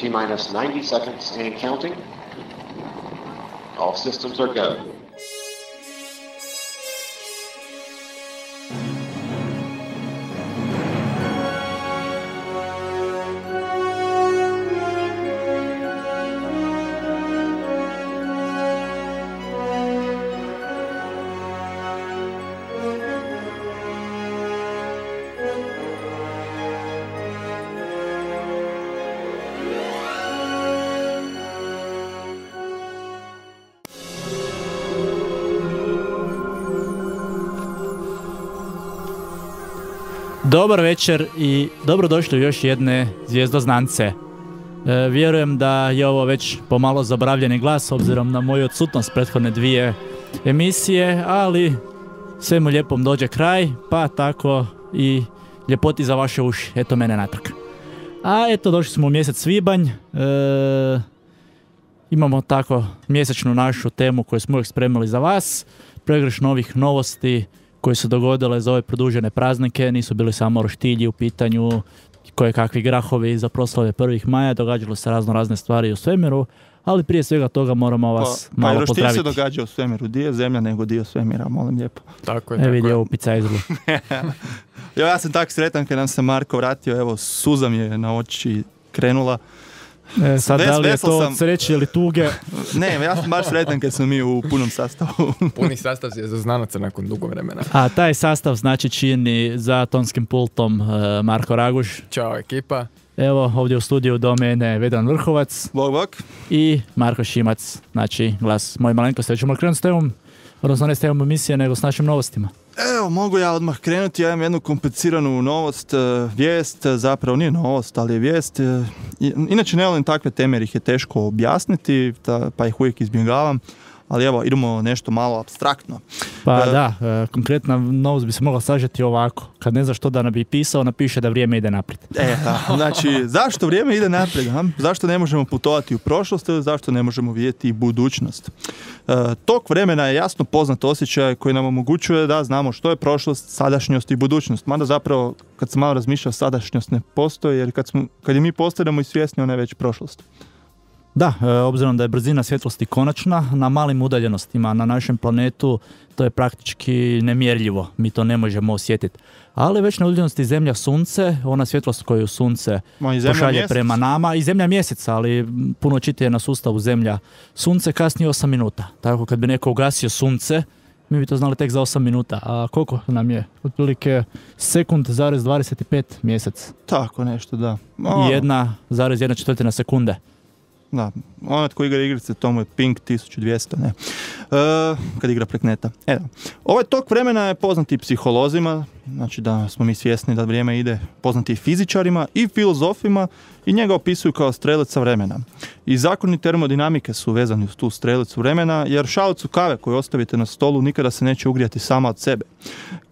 T-minus 90 seconds and counting. All systems are go. Dobar večer i dobrodošli u još jedne Zvijezdoznance. Vjerujem da je ovo već pomalo zaboravljeni glas obzirom na moju odsutnost prethodne dvije emisije, ali svemu lijepom dođe kraj, pa tako i ljepoti za vaše uši. Eto mene natrag. A eto, došli smo u mjesec svibanj. Imamo tako mjesečnu našu temu koju smo uvijek spremili za vas. Pregrš novih novosti koje su dogodile za ove produžene praznike, nisu bili samo roštilji u pitanju, koje kakvi grahovi za proslave 1. maja, događalo se razne stvari u svemiru, ali prije svega toga moramo vas malo pozdraviti. Pa roštilj se događa u svemiru, dio zemlja nego dio svemira, molim lijepo. Tako je. Vidi ovu picajzlu. Ja sam tak sretan kad nam se Marko vratio, evo suza mi je na oči krenula. Sad da li je to od sreće ili tuge? Ne, ja sam baš sretan kad smo mi u punom sastavu. Puni sastav je za znanaca nakon dugo vremena. A taj sastav znači čini za tonskim pultom Marko Raguš. Ćao ekipa. Evo ovdje u studiju do mene Vedran Vrhovac. Bog. I Marko Šimac, znači glas moje malenkosti. Ćemo krenuti s temom, odnosno ne s temom emisije, nego s našim novostima. Evo, mogu ja odmah krenuti, ja imam jednu kompliciranu novost, vijest, zapravo nije novost, ali je vijest. Inače ne volim takve teme jer ih je teško objasniti, pa ih uvijek izbjegavam, ali evo, idemo nešto malo apstraktno. Pa da, konkretna novost bi se mogla sažeti ovako, kad ne znaš što da bi pisao, napiše da vrijeme ide naprijed. Znači, zašto vrijeme ide naprijed? Zašto ne možemo putovati u prošlost ili zašto ne možemo vidjeti budućnost? Tok vremena je jasno poznat osjećaj koji nam omogućuje da znamo što je prošlost, sadašnjost i budućnost. Mada zapravo, kad sam malo razmišljao, sadašnjost ne postoji, jer kad je mi postanemo i svjesni, ona je već prošlost. Da, obzirom da je brzina svjetlosti konačna, na malim udaljenostima na našem planetu to je praktički nemjerljivo, mi to ne možemo osjetiti. Ali već na udaljenosti Zemlja Sunce, ona svjetlost koju Sunce pošalje mjesec prema nama, i Zemlja Mjesec, ali puno čitije na sustavu Zemlja Sunce, kasnije 8 minuta. Tako kad bi neko ugasio Sunce, mi bi to znali tek za 8 minuta. A koliko nam je? Otprilike sekund zarez 25 mjesec. Tako nešto, da. I 1,1/4 sekunde. Da, onaj tko igra igrice, tomu je ping 1200, ne. Kad igra prek neta. Ovaj tok vremena je poznat i psiholozima, znači da smo mi svjesni da vrijeme ide, poznati i fizičarima i filozofima i njega opisuju kao strelica vremena. I zakoni termodinamike su vezani uz tu strelicu vremena, jer šalicu kave koju ostavite na stolu nikada se neće ugrijati sama od sebe.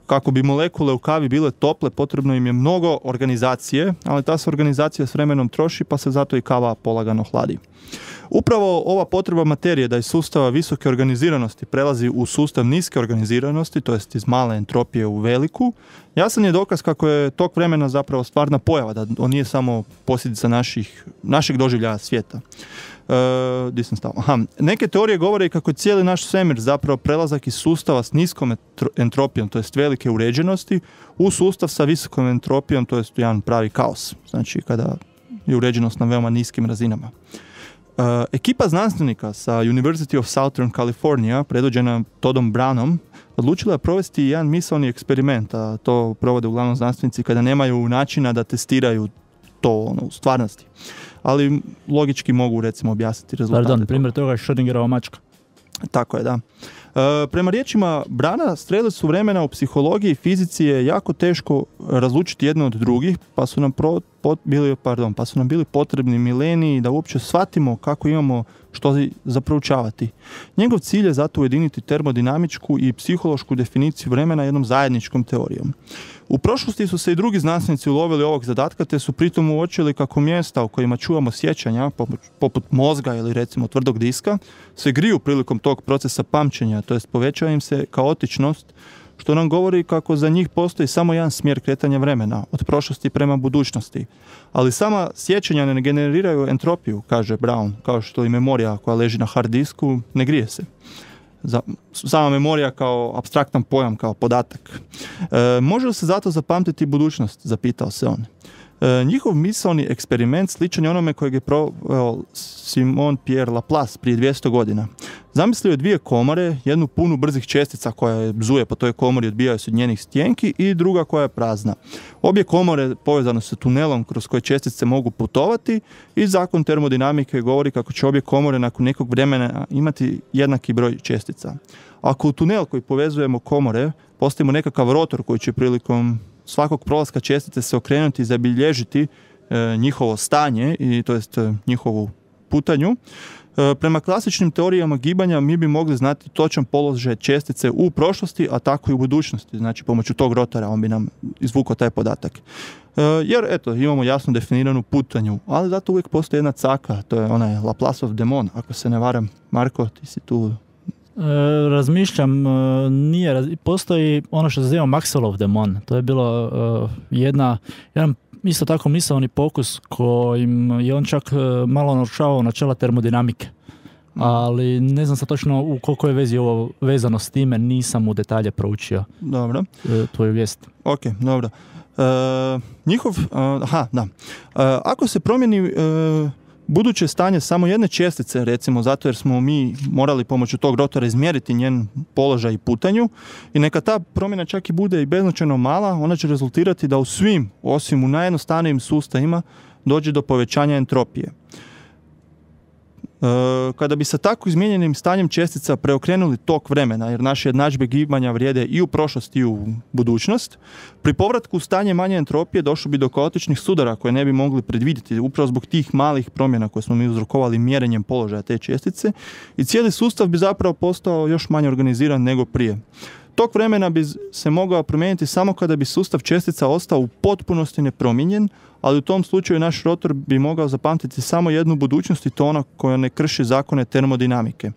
Kako bi molekule u kavi bile tople, potrebno im je mnogo organizacije, ali ta se organizacija s vremenom troši, pa se zato i kava polagano hladi. Upravo ova potreba materije da iz sustava visoke organiziranosti prelazi u sustav niske organiziranosti, to jest iz male entropije u veliku, jasan je dokaz kako je tok vremena zapravo stvarna pojava, da on nije samo posljedica našeg doživljaja svijeta. Gdje sam stao? Neke teorije govore kako je cijeli naš svemir zapravo prelazak iz sustava s niskom entropijom, to jest velike uređenosti, u sustav sa visokom entropijom, to jest jedan pravi kaos. Znači kada je uređenost na veoma niskim razinama. Ekipa znanstvenika sa University of Southern California, predvođena Toddom Brownom, odlučila je provesti jedan misaoni eksperiment, a to provode uglavnom znanstvenici kada nemaju načina da testiraju to u stvarnosti. Ali logički mogu recimo objasniti rezultate. Pardon, primjer toga je Schrödingerova mačka. Tako je, da. Prema riječima Brana, strelicu vremena u psihologiji i fizici je jako teško razlučiti jedno od drugih, pa su nam bili potrebni mileniji da uopće shvatimo kako imamo što za proučavati. Njegov cilj je zato ujediniti termodinamičku i psihološku definiciju vremena jednom zajedničkom teorijom. U prošlosti su se i drugi znanstvenici ulovili ovog zadatka, te su pritom uočili kako mjesta u kojima čuvamo sjećanja, poput mozga ili recimo tvrdog diska, se griju prilikom tog procesa pamćenja, to jest povećava im se kaotičnost, što nam govori kako za njih postoji samo jedan smjer kretanja vremena, od prošlosti prema budućnosti. Ali sama sjećanja ne generiraju entropiju, kaže Brown, kao što i memorija koja leži na hard disku ne grije se. Sama memorija kao apstraktan pojam, kao podatak. Može li se zato zapamtiti budućnost, zapitao se on. Njihov misaoni eksperiment sličan je onome kojeg je proveo Simon Pierre Laplace prije 200 godina. Zamislio je dvije komore, jednu punu brzih čestica koja je bzuje po toj komori, odbijaju se od njenih stjenki, i druga koja je prazna. Obje komore povezane su tunelom kroz koje čestice mogu putovati i zakon termodinamike govori kako će obje komore nakon nekog vremena imati jednaki broj čestica. Ako u tunel koji povezujemo komore postavimo nekakav rotor koji će prilikom svakog prolaska čestice se okrenuti i zabilježiti njihovo stanje, i to jest njihovu putanju, prema klasičnim teorijama gibanja mi bi mogli znati točan položaj čestice u prošlosti, a tako i u budućnosti. Znači, pomoću tog rotora on bi nam izvukao taj podatak. Jer, eto, imamo jasno definiranu putanju, ali zato uvijek postoji jedna caka, to je onaj Laplaceov demon, ako se ne varam. Marko, ti si tu... Razmišljam, postoji ono što se zove Maxwellov demon. To je bilo jedan isto tako misaoni pokus kojim je on čak malo narušavao načela termodinamike. Ali ne znam sad točno u koliko je vezi ovo vezano s time, nisam u detalje proučio. Dobro. Tvoju vijest. Ok, dobro. Ako se promijeni buduće stanje samo jedne čestice, recimo zato jer smo mi morali pomoću tog rotora izmjeriti njen položaj i putanju, i neka ta promjena čak i bude i beznačajno mala, ona će rezultirati da u svim, osim u najjednostavnijim sustavima, dođe do povećanja entropije. Kada bi sa tako izmijenjenim stanjem čestica preokrenuli tok vremena, jer naše jednadžbe gibanja vrijede i u prošlost i u budućnost, pri povratku u stanje manje entropije došlo bi do kaotičnih sudara koje ne bi mogli predvidjeti upravo zbog tih malih promjena koje smo mi uzrokovali mjerenjem položaja te čestice, i cijeli sustav bi zapravo postao još manje organiziran nego prije. Tok vremena bi se mogao promijeniti samo kada bi sustav čestica ostao u potpunosti nepromijenjen, ali u tom slučaju naš rotor bi mogao zapamtiti samo jednu budućnost, i to ona koja ne krši zakone termodinamike.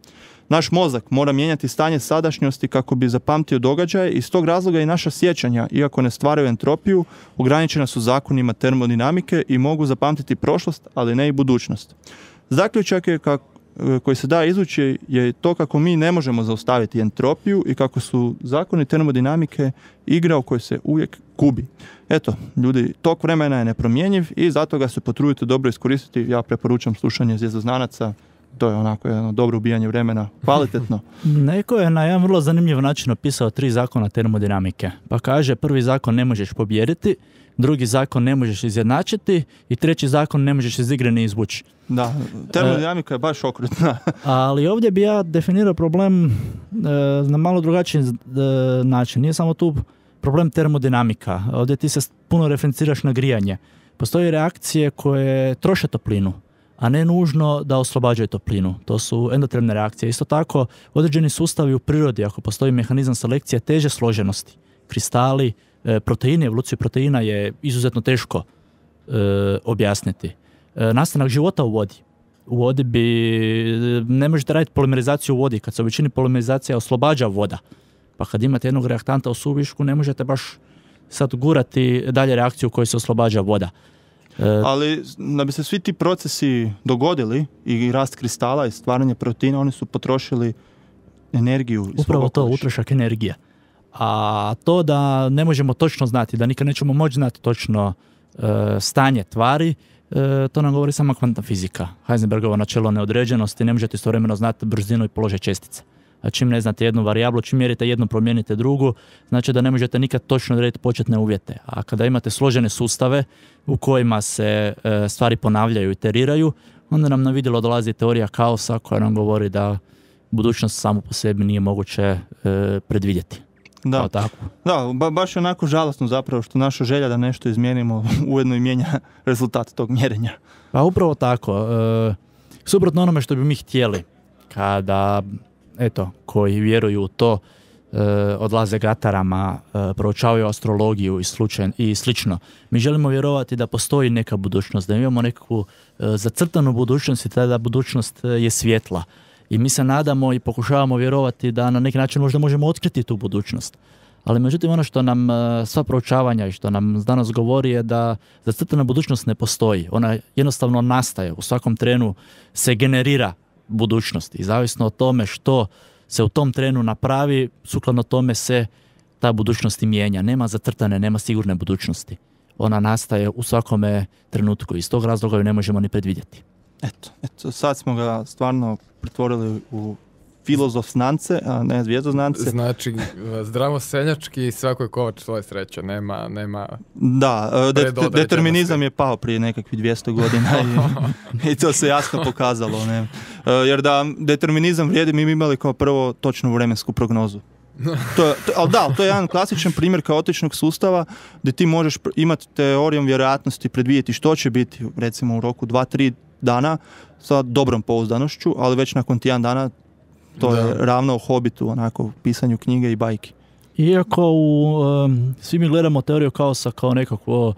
Naš mozak mora mijenjati stanje sadašnjosti kako bi zapamtio događaje, i iz tog razloga i naša sjećanja, iako ne stvaraju entropiju, ograničena su zakonima termodinamike i mogu zapamtiti prošlost, ali ne i budućnost. Zaključak je koji se da izvući je to kako mi ne možemo zaustaviti entropiju i kako su zakoni termodinamike igra u kojoj se uvijek gubi. Eto, ljudi, tok vremena je nepromjenjiv i zato ga se potrudite dobro iskoristiti. Ja preporučam slušanje Zvijezdoznanaca. To je onako jedno dobro ubijanje vremena, kvalitetno. Neko je na jedan vrlo zanimljiv način opisao 3 zakona termodinamike. Pa kaže, prvi zakon ne možeš pobijediti, drugi zakon ne možeš izjednačiti i treći zakon ne možeš iz igre ni izvući. Da, termodinamika je baš okrutna. Ali ovdje bi ja definirao problem na malo drugačiji način. Nije samo tu problem termodinamika. Ovdje ti se puno referenciraš na grijanje. Postoje reakcije koje troše toplinu, a ne nužno da oslobađaju toplinu. To su endotermne reakcije. Isto tako, određeni sustavi u prirodi, ako postoji mehanizam selekcije teže složenosti, kristali, proteini, evoluciju proteina je izuzetno teško objasniti. Nastanak života u vodi. U vodi ne možete raditi polimerizaciju u vodi, kad se u većini polimerizacija oslobađa voda. Pa kad imate jednog reaktanta u suvišku, ne možete baš sad gurati dalje reakciju u kojoj se oslobađa voda. Ali da bi se svi ti procesi dogodili, i rast kristala i stvaranje proteina, oni su potrošili energiju. Upravo to, utrošak energije. A to da ne možemo točno znati, da nikad nećemo moći znati točno stanje tvari, to nam govori sama kvantna fizika. Heisenbergovo načelo neodređenosti, ne možete istovremeno znati brzinu i položaj čestice. A čim ne znate jednu varijablu, čim mjerite jednu, promijenite drugu, znači da ne možete nikad točno odrediti početne uvjete. A kada imate složene sustave u kojima se stvari ponavljaju i iteriraju, onda nam na vidjelo dolazi teorija kaosa koja nam govori da budućnost samo po sebi nije moguće predvidjeti. Da, baš je onako žalosno zapravo što naša želja da nešto izmijenimo ujedno i mijenja rezultat tog mjerenja. Pa upravo tako. Suprotno onome što bi mi htjeli, kada koji vjeruju u to, odlaze gatarama, proučavaju astrologiju i slično. Mi želimo vjerovati da postoji neka budućnost, da imamo neku zacrtanu budućnost i tada budućnost je svjetla. I mi se nadamo i pokušavamo vjerovati da na neki način možda možemo otkriti tu budućnost. Ali međutim ono što nam sva proučavanja i što nam danas govori je da zacrtana budućnost ne postoji. Ona jednostavno nastaje. U svakom trenu se generira budućnost i zavisno o tome što se u tom trenu napravi, sukladno tome se ta budućnost i mijenja. Nema zacrtane, nema sigurne budućnosti. Ona nastaje u svakome trenutku i iz tog razloga ju ne možemo ni predvidjeti. Eto, sad smo ga stvarno pretvorili u filozof znance, a ne zvijezdoznance. Znači, zdravo seljački, svako je kovač svoje sreće, nema... Da, determinizam je pao prije nekakvih 200 godina i to se jasno pokazalo. Ne? Jer da determinizam vrijedi, mi bi imali kao prvo točnu vremensku prognozu. Ali da, to je jedan klasičan primjer kaotičnog sustava gdje ti možeš imati teorijom vjerojatnosti predvidjeti što će biti recimo u roku 2-3 dana sa dobrom pouzdanošću, ali već nakon tjedan dana to je ravno Hobbitu, onako, pisanju knjige i bajki. Iako svi mi gledamo teoriju kaosa kao nekakvo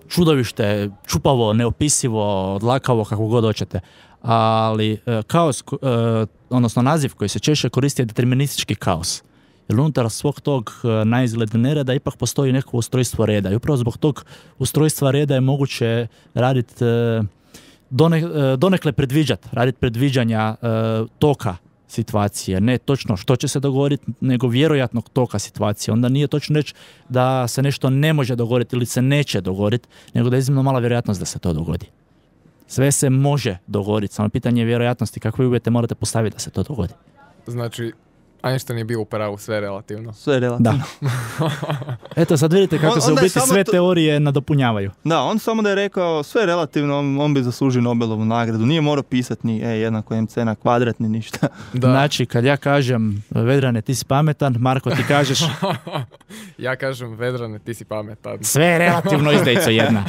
čudovište, čupavo, neopisivo, odlakavo, kako god hoćete. Ali kaos, odnosno naziv koji se češće koristi je deterministički kaos. Jer unutar svog tog naizgled nereda ipak postoji neko ustrojstvo reda. I upravo zbog tog ustrojstva reda je moguće raditi donekle predviđati, raditi predviđanja toka situacije. Ne točno što će se dogoditi, nego vjerojatnog toka situacije. Onda nije točno reći da se nešto ne može dogoditi ili se neće dogoditi, nego da je iznimno mala vjerojatnost da se to dogodi. Sve se može dogoditi, samo pitanje je vjerojatnosti, kakve uvjete morate postaviti da se to dogodi. Znači, Einstein je bio u pravu, sve relativno. Sve relativno. Da. Eto, sad vidite kako se u biti sve teorije nadopunjavaju. Da, on samo da je rekao sve relativno, on bi zaslužio Nobelovu nagradu. Nije morao pisati ni jednako mc na kvadrat, ni ništa. Da. Znači, kad ja kažem Vedrane, ti si pametan, Marko, ti kažeš... Ja kažem Vedrane, ti si pametan. Sve je relativno, izdajico jedna.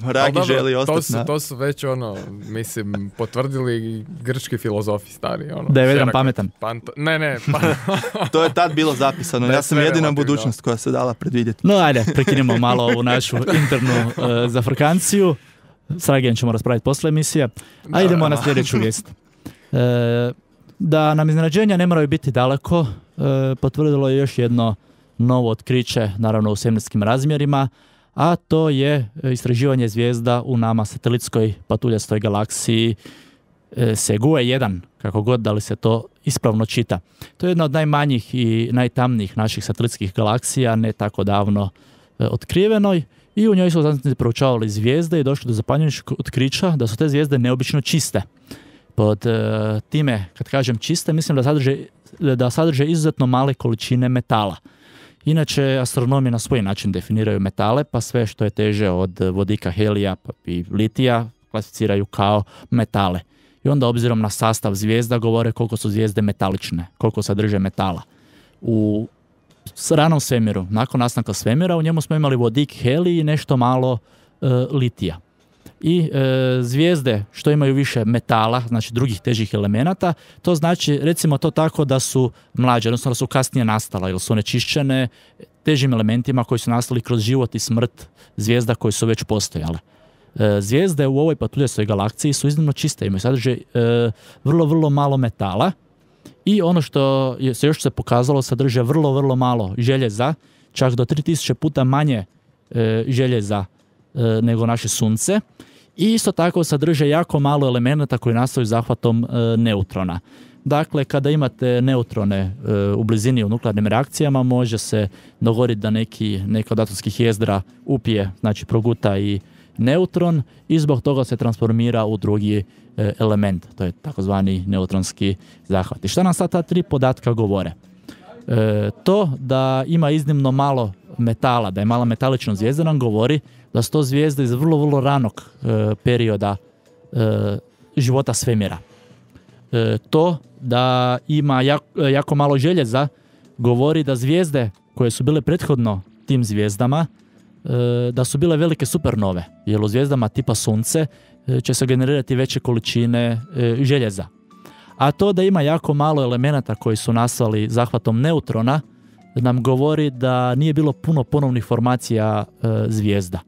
Ragi želi ostati na... To su već mislim, potvrdili grčki filozofi stari. Da je Vedran pametan. Ne. To je tad bilo zapisano. Ja sam jedina budućnost koja se dala predvidjeti. No, ajde, prekinimo malo ovu našu internu zafrkanciju. S Ragijem ćemo raspraviti posle emisije. A idemo na sljedeću vijest. Da nam iznenađenja ne moraju biti daleko, potvrdilo je još jedno novo otkriće, naravno u svemirskim razmjerima, a to je istraživanje zvijezda u nama satelitskoj patuljastoj galaksiji Segue 1, kako god da li se to ispravno čita. To je jedna od najmanjih i najtamnijih naših satelitskih galaksija, ne tako davno otkrivenoj, i u njoj su znanstvenici proučavali zvijezde i došli do zapanjujućeg otkrića da su te zvijezde neobično čiste. Pod time, kad kažem čiste, mislim da sadrže izuzetno male količine metala. Inače, astronomi na svoj način definiraju metale, pa sve što je teže od vodika, helija pa i litija klasificiraju kao metale. I onda obzirom na sastav zvijezda govore koliko su zvijezde metalične, koliko sadrže metala. U ranom svemiru, nakon nastanka svemira, u njemu smo imali vodik, helij i nešto malo litija. I zvijezde što imaju više metala, znači drugih težih elemenata, to znači, recimo to tako, da su mlađe, odnosno da su kasnije nastala ili su onečišćene težim elementima koji su nastali kroz život i smrt zvijezda koje su već postojale. Zvijezde u ovoj patuljastoj galaksiji su iznimno čiste, imaju sadrže vrlo malo metala i ono što se još pokazalo, sadrže vrlo malo željeza, čak do 3000 puta manje željeza nego naše sunce, i isto tako sadrže jako malo elemenata koji nastaju zahvatom neutrona. Dakle, kada imate neutrone u blizini u nuklearnim reakcijama, može se dogoditi da neka od atomskih jezdra upije, znači proguta i neutron, i zbog toga se transformira u drugi element. To je takozvani neutronski zahvat. I šta nam sad ta tri podatka govore? To da ima iznimno malo metala, da je mala metalična zvijezda, nam govori da su to zvijezde iz vrlo ranog perioda života svemira. To da ima jako malo željeza govori da zvijezde koje su bile prethodno tim zvijezdama, da su bile velike supernove, jer u zvijezdama tipa Sunce će se generirati veće količine željeza. A to da ima jako malo elemenata koji su nastali zahvatom neutrona nam govori da nije bilo puno ponovnih formacija zvijezda.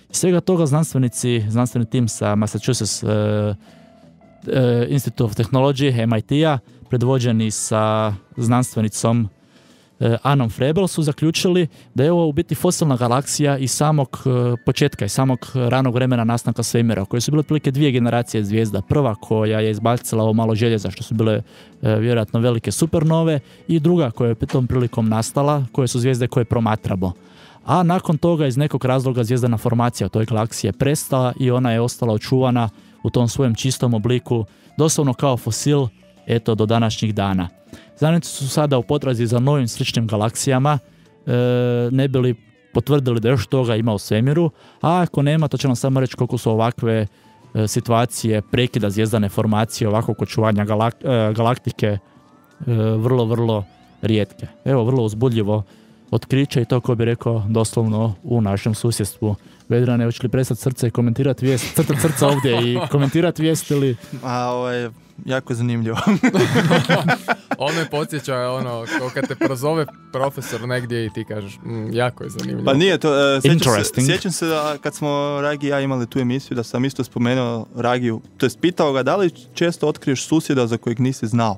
Iz svega toga znanstveni tim sa Massachusetts Institute of Technology, MIT-a, predvođeni sa znanstvenicom Anom Frebel, su zaključili da je ovo u biti fosilna galaksija iz samog početka, iz samog ranog vremena nastanka svemira, koje su bile otprilike 2 generacije zvijezda. Prva koja je izbacila ovo malo željeza, što su bile vjerojatno velike supernove, i druga koja je tom prilikom nastala, koje su zvijezde koje promatramo. A nakon toga iz nekog razloga zvijezdana formacija toj galaksije prestala i ona je ostala očuvana u tom svojem čistom obliku, doslovno kao fosil, eto, do današnjih dana. Znanstvenici su sada u potrazi za novim sličnim galaksijama, ne bi li potvrdili da još toga ima u svemiru, a ako nema, to će nam samo reći koliko su ovakve situacije prekida zvijezdane formacije, ovakvog očuvanja galaktike vrlo, vrlo rijetke. Evo, vrlo uzbudljivo otkriće i to, ko bi rekao, doslovno u našem susjedstvu. Vedrane, hoće li prestati srce i komentirati vijest, crtati srca ovdje i komentirati vijest ili... Ovo je jako zanimljivo. On me podsjeća, kao kad te prozove profesor negdje i ti kažeš, jako je zanimljivo. Pa nije to, sjećam se da kad smo Ragi i ja imali tu emisiju, da sam isto spomenuo Ragiju, to jest pitao ga da li često otkriješ susjeda za kojeg nisi znao.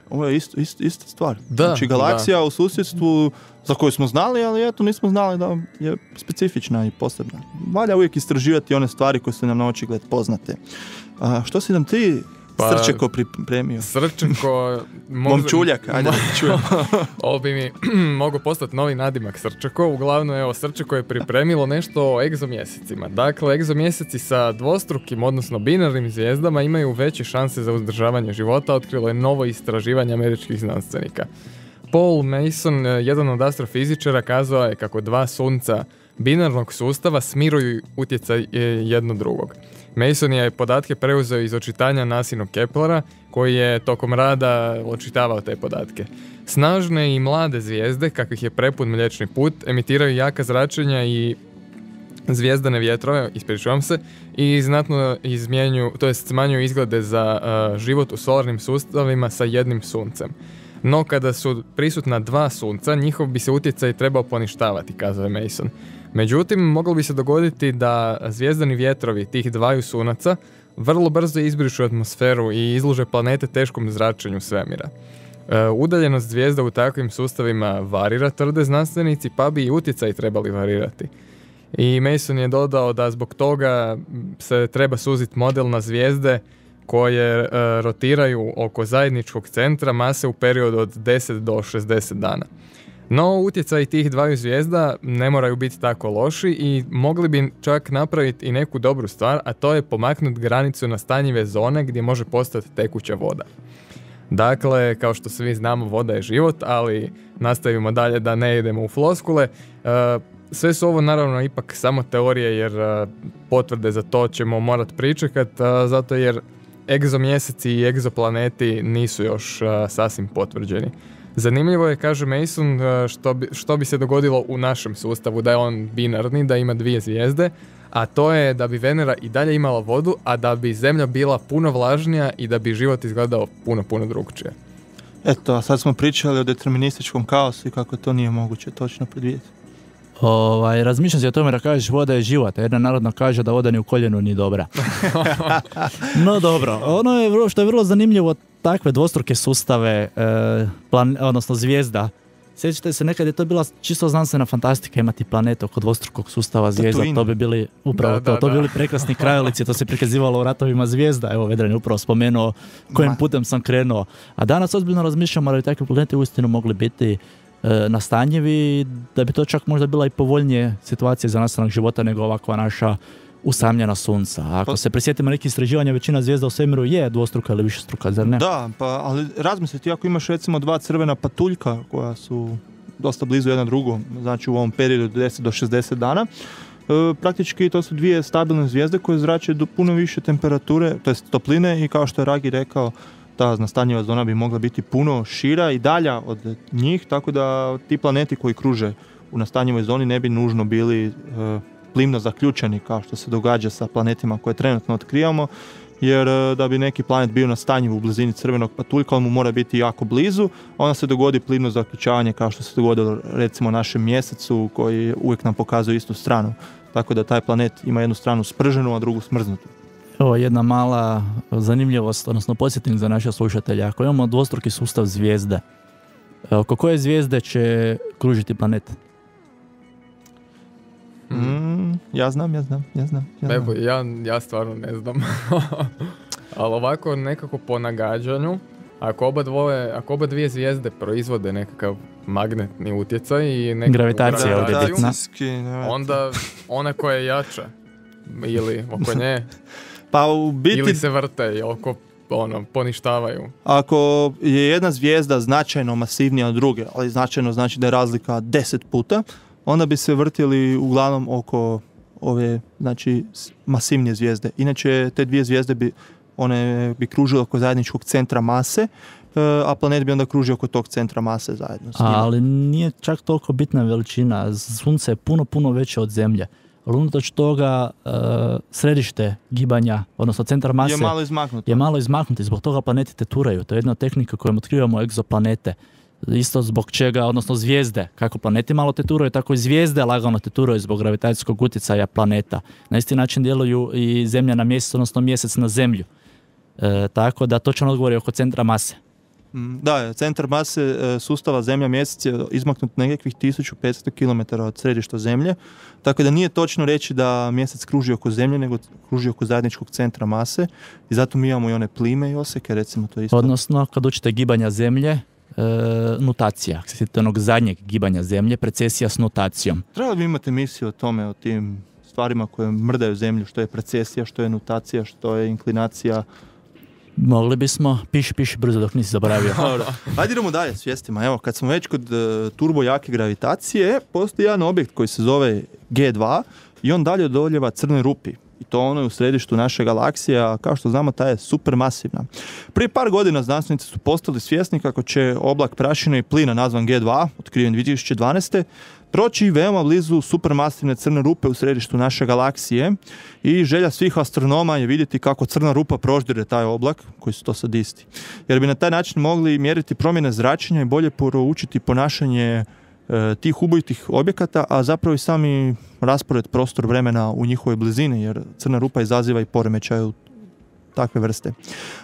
Ovo je ista stvar. Znači galaksija u susjedstvu za koju smo znali, ali eto nismo znali da je specifična i posebna. Valja uvijek istraživati one stvari koje su nam na očigled poznate. Što si nam ti Srčeko pripremio? Srčeko... Momčuljak, ajde da čujem. Ovo bi mi mogao postati novi nadimak Srčeko. Uglavnom, evo, Srčeko je pripremilo nešto o egzomjesecima. Dakle, egzomjeseci sa dvostrukim, odnosno binarnim zvijezdama imaju veće šanse za uzdržavanje života, otkrilo je novo istraživanje američkih znanstvenika. Paul Mason, jedan od astrofizičara, kazao je kako 2 sunca binarnog sustava smiruju utjecaj jedno drugog. Mason je podatke preuzeo iz očitanja Nasinog Keplera, koji je tokom rada očitavao te podatke. Snažne i mlade zvijezde, kakvih je prepun Mliječni put, emitiraju jaka zračenja i zvijezdane vjetrove, ispričavam se, i znatno smanjuju izglede za život u solarnim sustavima sa jednim suncem. No kada su prisutna 2 sunca, njihov bi se utjecaj trebao poništavati, kazao je Mason. Međutim, moglo bi se dogoditi da zvijezdani vjetrovi tih 2 sunaca vrlo brzo izbrišu atmosferu i izlože planete teškom zračenju svemira. Udaljenost zvijezda u takvim sustavima varira, tvrde znanstvenici, pa bi i utjecaj trebali varirati. I Mason je dodao da zbog toga se treba suziti model na zvijezde koje rotiraju oko zajedničkog centra mase u periodu od 10 do 60 dana. No, utjecaj tih 2 zvijezda ne moraju biti tako loši i mogli bi čak napraviti i neku dobru stvar, a to je pomaknuti granicu na stanjive zone gdje može postati tekuća voda. Dakle, kao što svi znamo, voda je život, ali nastavimo dalje da ne idemo u floskule. Sve su ovo naravno ipak samo teorije, jer potvrde za to ćemo morati pričekati, zato jer egzomjeseci i egzoplaneti nisu još sasvim potvrđeni. Zanimljivo je, kaže Mason, što bi se dogodilo u našem sustavu, da je on binarni, da ima 2 zvijezde, a to je da bi Venera i dalje imala vodu, a da bi Zemlja bila puno vlažnija i da bi život izgledao puno, puno drugčije. Eto, a sad smo pričali o determinističkom kaosu i kako to nije moguće točno predvidjeti. Razmišljam se o tome da kažeš voda je život, a jedna narodna kaže da voda ni u koljenu ni dobra. No dobro, ono je što je vrlo zanimljivo, takve dvostruke sustave, odnosno zvijezda. Sjećate se, nekad je to bila čisto znanstvena fantastika imati planet oko dvostrukog sustava zvijezda, to bi bili upravo to bi bili prekrasni krajolici, to se prikazivalo u ratovima zvijezda. Evo, Vedran je upravo spomenuo kojim putem sam krenuo. A danas ozbiljno razmišljamo da bi takvi planeti uistinu mogli biti nastanjivi, da bi to čak možda bila i povoljnije situacija za nastanak života nego ovakva naša usamljena sunca. Ako se prisjetimo nekih istraživanja, većina zvijezda u svemiru je dvostruka ili višestruka, zar ne? Da, ali razmisliti, ako imaš recimo 2 crvena patuljka koja su dosta blizu jedna drugom, znači u ovom periodu 10 do 60 dana, praktički to su 2 stabilne zvijezde koje zrače do puno više temperature, to jest topline, i kao što je Ragi rekao, ta nastanjiva zona bi mogla biti puno šira i dalja od njih, tako da ti planeti koji kruže u nastanjivoj zoni ne bi nužno bili plimno zaključeni kao što se događa sa planetima koje trenutno otkrivamo, jer da bi neki planet bio nastanjiv u blizini crvenog patuljka, on mu mora biti jako blizu, a onda se dogodi plimno zaključavanje kao što se dogodilo recimo našem mjesecu koji uvijek nam pokazuje istu stranu, tako da taj planet ima jednu stranu sprženu, a drugu smrznutu. Ovo je jedna mala zanimljivost, odnosno podsjetnik za naše slušatelje. Ako imamo dvostruki sustav zvijezde, oko koje zvijezde će kružiti planet? Ja znam. Evo, ja stvarno ne znam. Ali ovako nekako po nagađanju, ako oba dvije zvijezde proizvode nekakav magnetni utjecaj i nekakvu Gravitacija je ovdje bitna. onda ona koja je jača ili oko nje Pa u biti, ili se vrte i oko poništavaju. ako je jedna zvijezda značajno masivnija od druge, ali značajno znači da je razlika 10 puta, onda bi se vrtili uglavnom oko ove, znači, masivnije zvijezde. Inače, te dvije zvijezde one bi kružile oko zajedničkog centra mase, a planet bi onda kružio oko tog centra mase zajedno s njima. Ali nije čak toliko bitna veličina. Sunce je puno veće od Zemlje. Ali unatoč toga središte gibanja, odnosno centar mase je malo izmaknuto. Zbog toga planeti teturaju. To je jedna tehnika kojom otkrivamo egzoplanete. Isto zbog čega, odnosno zvijezde, kako planeti malo teturaju, tako i zvijezde lagano teturaju zbog gravitacijskog utjecaja planeta. Na isti način djeluju i Zemlja na mjesec, odnosno mjesec na Zemlju. Tako da točno odgovor je oko centra mase. Da, centar mase sustava Zemlja-Mjesec je izmaknut nekakvih 1500 km od središta Zemlje, tako da nije točno reći da Mjesec kruži oko Zemlje, nego kruži oko zajedničkog centra mase i zato mi imamo i one plime i oseke, recimo to isto. Odnosno, kad učite gibanja Zemlje, nutacija. Ako se sjetite onog zadnjeg gibanja Zemlje, precesija s nutacijom. Treba bi imati emisiju o tome, o tim stvarima koje mrdaju Zemlju, što je precesija, što je nutacija, što je inklinacija. Mogli bismo, piši brzo dok nisi zaboravio. Ajde idemo dalje s vijestima. Evo, kad smo već kod turbo jake gravitacije, postoji jedan objekt koji se zove G2 i on dalje odoljeva crnoj rupi. I to ono je u središtu naše galaksije, a kao što znamo, ta je supermasivna. Prije par godina znanstvenici su postali svjesni kako će oblak prašine i plina nazvan G2, otkriven 2012. proći veoma blizu supermasivne crne rupe u središtu naše galaksije i želja svih astronoma je vidjeti kako crna rupa proždire taj oblak, koji su to sad isti. Jer bi na taj način mogli mjeriti promjene zračenja i bolje proučiti ponašanje tih ubojitih objekata, a zapravo i sami raspored prostor vremena u njihovoj blizini, jer crna rupa izaziva i poremećaj takve vrste.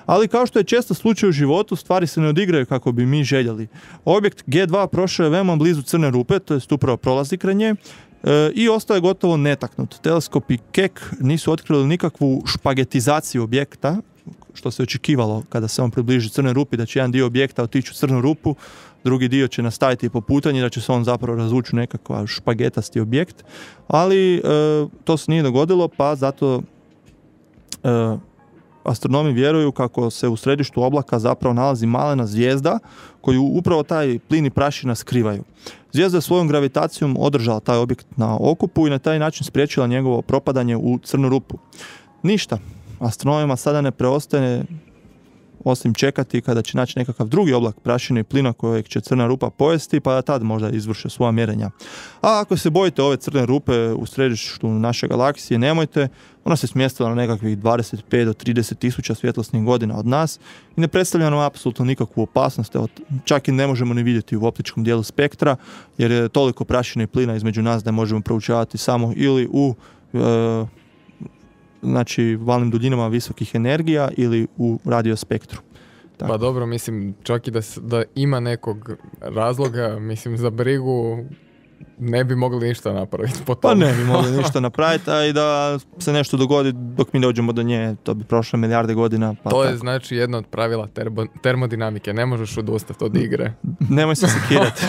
Ali kao što je često slučaj u životu, stvari se ne odigraju kako bi mi željeli. Objekt G2 prošao je veoma blizu crne rupe, to jest upravo prolazi kraj nje, i ostao je gotovo netaknut. Teleskopi Keck nisu otkrili nikakvu špagetizaciju objekta, što se očekivalo kada se on približi crnoj rupi, da će jedan dio objekta otići u crnu rupu, drugi dio će nastaviti po putanji, da će se on zapravo razvući u nekakav špagetasti objekt, ali to se nije dogodilo, pa zato astronomi vjeruju kako se u središtu oblaka zapravo nalazi malena zvijezda koju upravo taj plin i prašina skrivaju. Zvijezda je svojom gravitacijom održala taj objekt na okupu i na taj način spriječila njegovo propadanje u crnu rupu. Ništa. Astronomima sada ne preostaje osim čekati kada će naći nekakav drugi oblak prašine i plina kojeg će crna rupa pojesti, pa da tad možda izvrše svoja mjerenja. A ako se bojite ove crne rupe u središtu naše galaksije, nemojte, ona se smjestila na nekakvih 25 do 30 tisuća svjetlosnih godina od nas i ne predstavlja nam apsolutno nikakvu opasnost, čak i ne možemo ni vidjeti u optičkom dijelu spektra, jer je toliko prašine i plina između nas da je možemo proučavati samo ili u znači valnim duljinama visokih energija ili u radiospektru. Tako. Pa dobro, mislim, čak i da ima nekog razloga, mislim, za brigu ne bi mogli ništa napraviti po tome. Pa ne bi mogli ništa napraviti, a i da se nešto dogodi dok mi dođemo do nje, to bi prošlo milijarde godina. Pa to je znači jedno od pravila termodinamike, ne možeš odustati od igre. Nemoj se sekirati.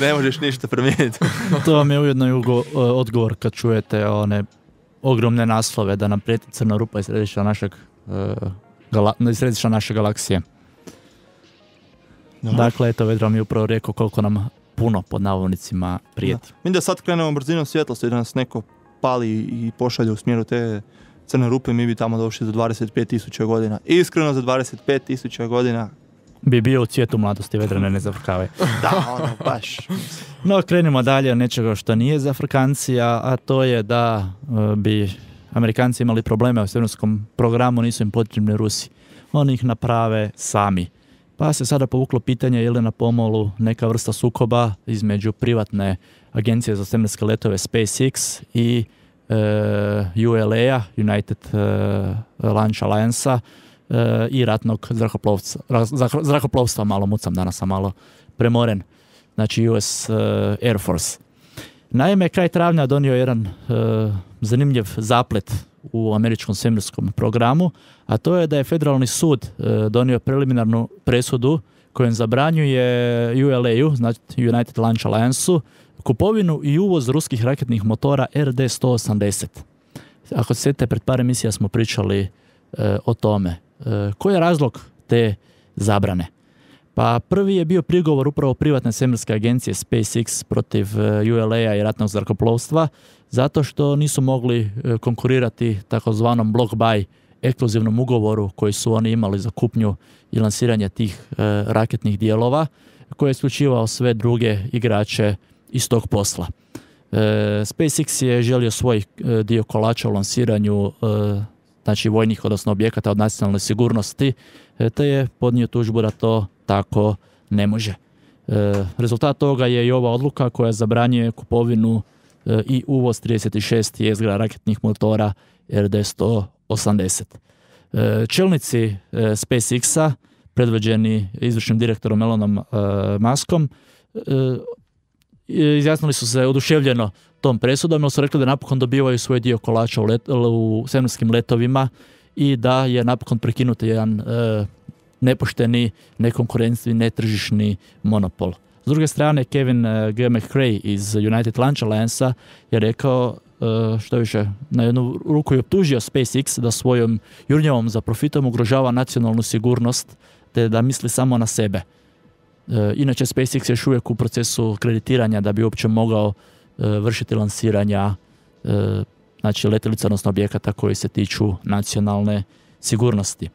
Ne možeš ništa promijeniti. To vam je ujedno i odgovor kad čujete one ogromne naslove da nam prijeti crna rupa iz središta naše galaksije. No. Dakle, eto, Vedran mi je upravo rekao koliko nam puno, pod navodnicima, prijeti. Mi da sad krenemo brzinom svjetlosti, da nas neko pali i pošalje u smjeru te crne rupe, mi bi tamo došli za 25.000 godina. Iskreno, za 25.000 godina bi bio u cvijetu mladosti, Vedrane, ne zafrkavaj. Da, ono, baš. No, krenimo dalje od nečega što nije za Afrikancija, a to je da bi Amerikanci imali probleme u svemirskom programu, nisu im potrebni Rusi. Oni ih naprave sami. Pa se sada povuklo pitanje je li na pomolu neka vrsta sukoba između privatne agencije za svemirske letove SpaceX i ULA-a, United Launch Alliance-a, i ratnog zrakoplovstva, malo mucam, danas sam malo premoren, znači US Air Force. Naime, kraj travnja donio jedan zanimljiv zaplet u američkom svemirskom programu, a to je da je federalni sud donio preliminarnu presudu kojom zabranjuje ULA-u, znači United Launch Alliance-u, kupovinu i uvoz ruskih raketnih motora RD-180. Ako se sjetite, pred par emisija smo pričali o tome. Koji je razlog te zabrane? Pa prvi je bio prigovor upravo privatne svemirske agencije SpaceX protiv ULA-a i ratnog zrakoplovstva, zato što nisu mogli konkurirati takozvanom block buy ekskluzivnom ugovoru koji su oni imali za kupnju i lansiranje tih raketnih dijelova, koji je isključivao sve druge igrače iz tog posla. SpaceX je želio svoj dio kolača u lansiranju znači vojnih, odnosno objekata od nacionalne sigurnosti, te je podnio tužbu da to tako ne može. Rezultat toga je i ova odluka koja zabranjuje kupovinu i uvoz 36 jezgra raketnih motora RD-180. Čelnici SpaceX-a, predvođeni izvršnim direktorom Elonom Muskom, izjasnili su se oduševljeno tom presudom, jer su rekli da napokon dobivaju svoj dio kolača u svemirskim letovima i da je napokon prekinut jedan nepošteni, nekonkurencijni, netržišni monopol. S druge strane, Kevin G. McRae iz United Launch Alliance je rekao, što više, na jednu ruku je optužio SpaceX da svojom jurnjavom za profitom ugrožava nacionalnu sigurnost, te da misli samo na sebe. Inače, SpaceX je još uvijek u procesu kreditiranja da bi uopće mogao vršiti lansiranja znači letjelica, odnosno objekata koji se tiču nacionalne sigurnosti.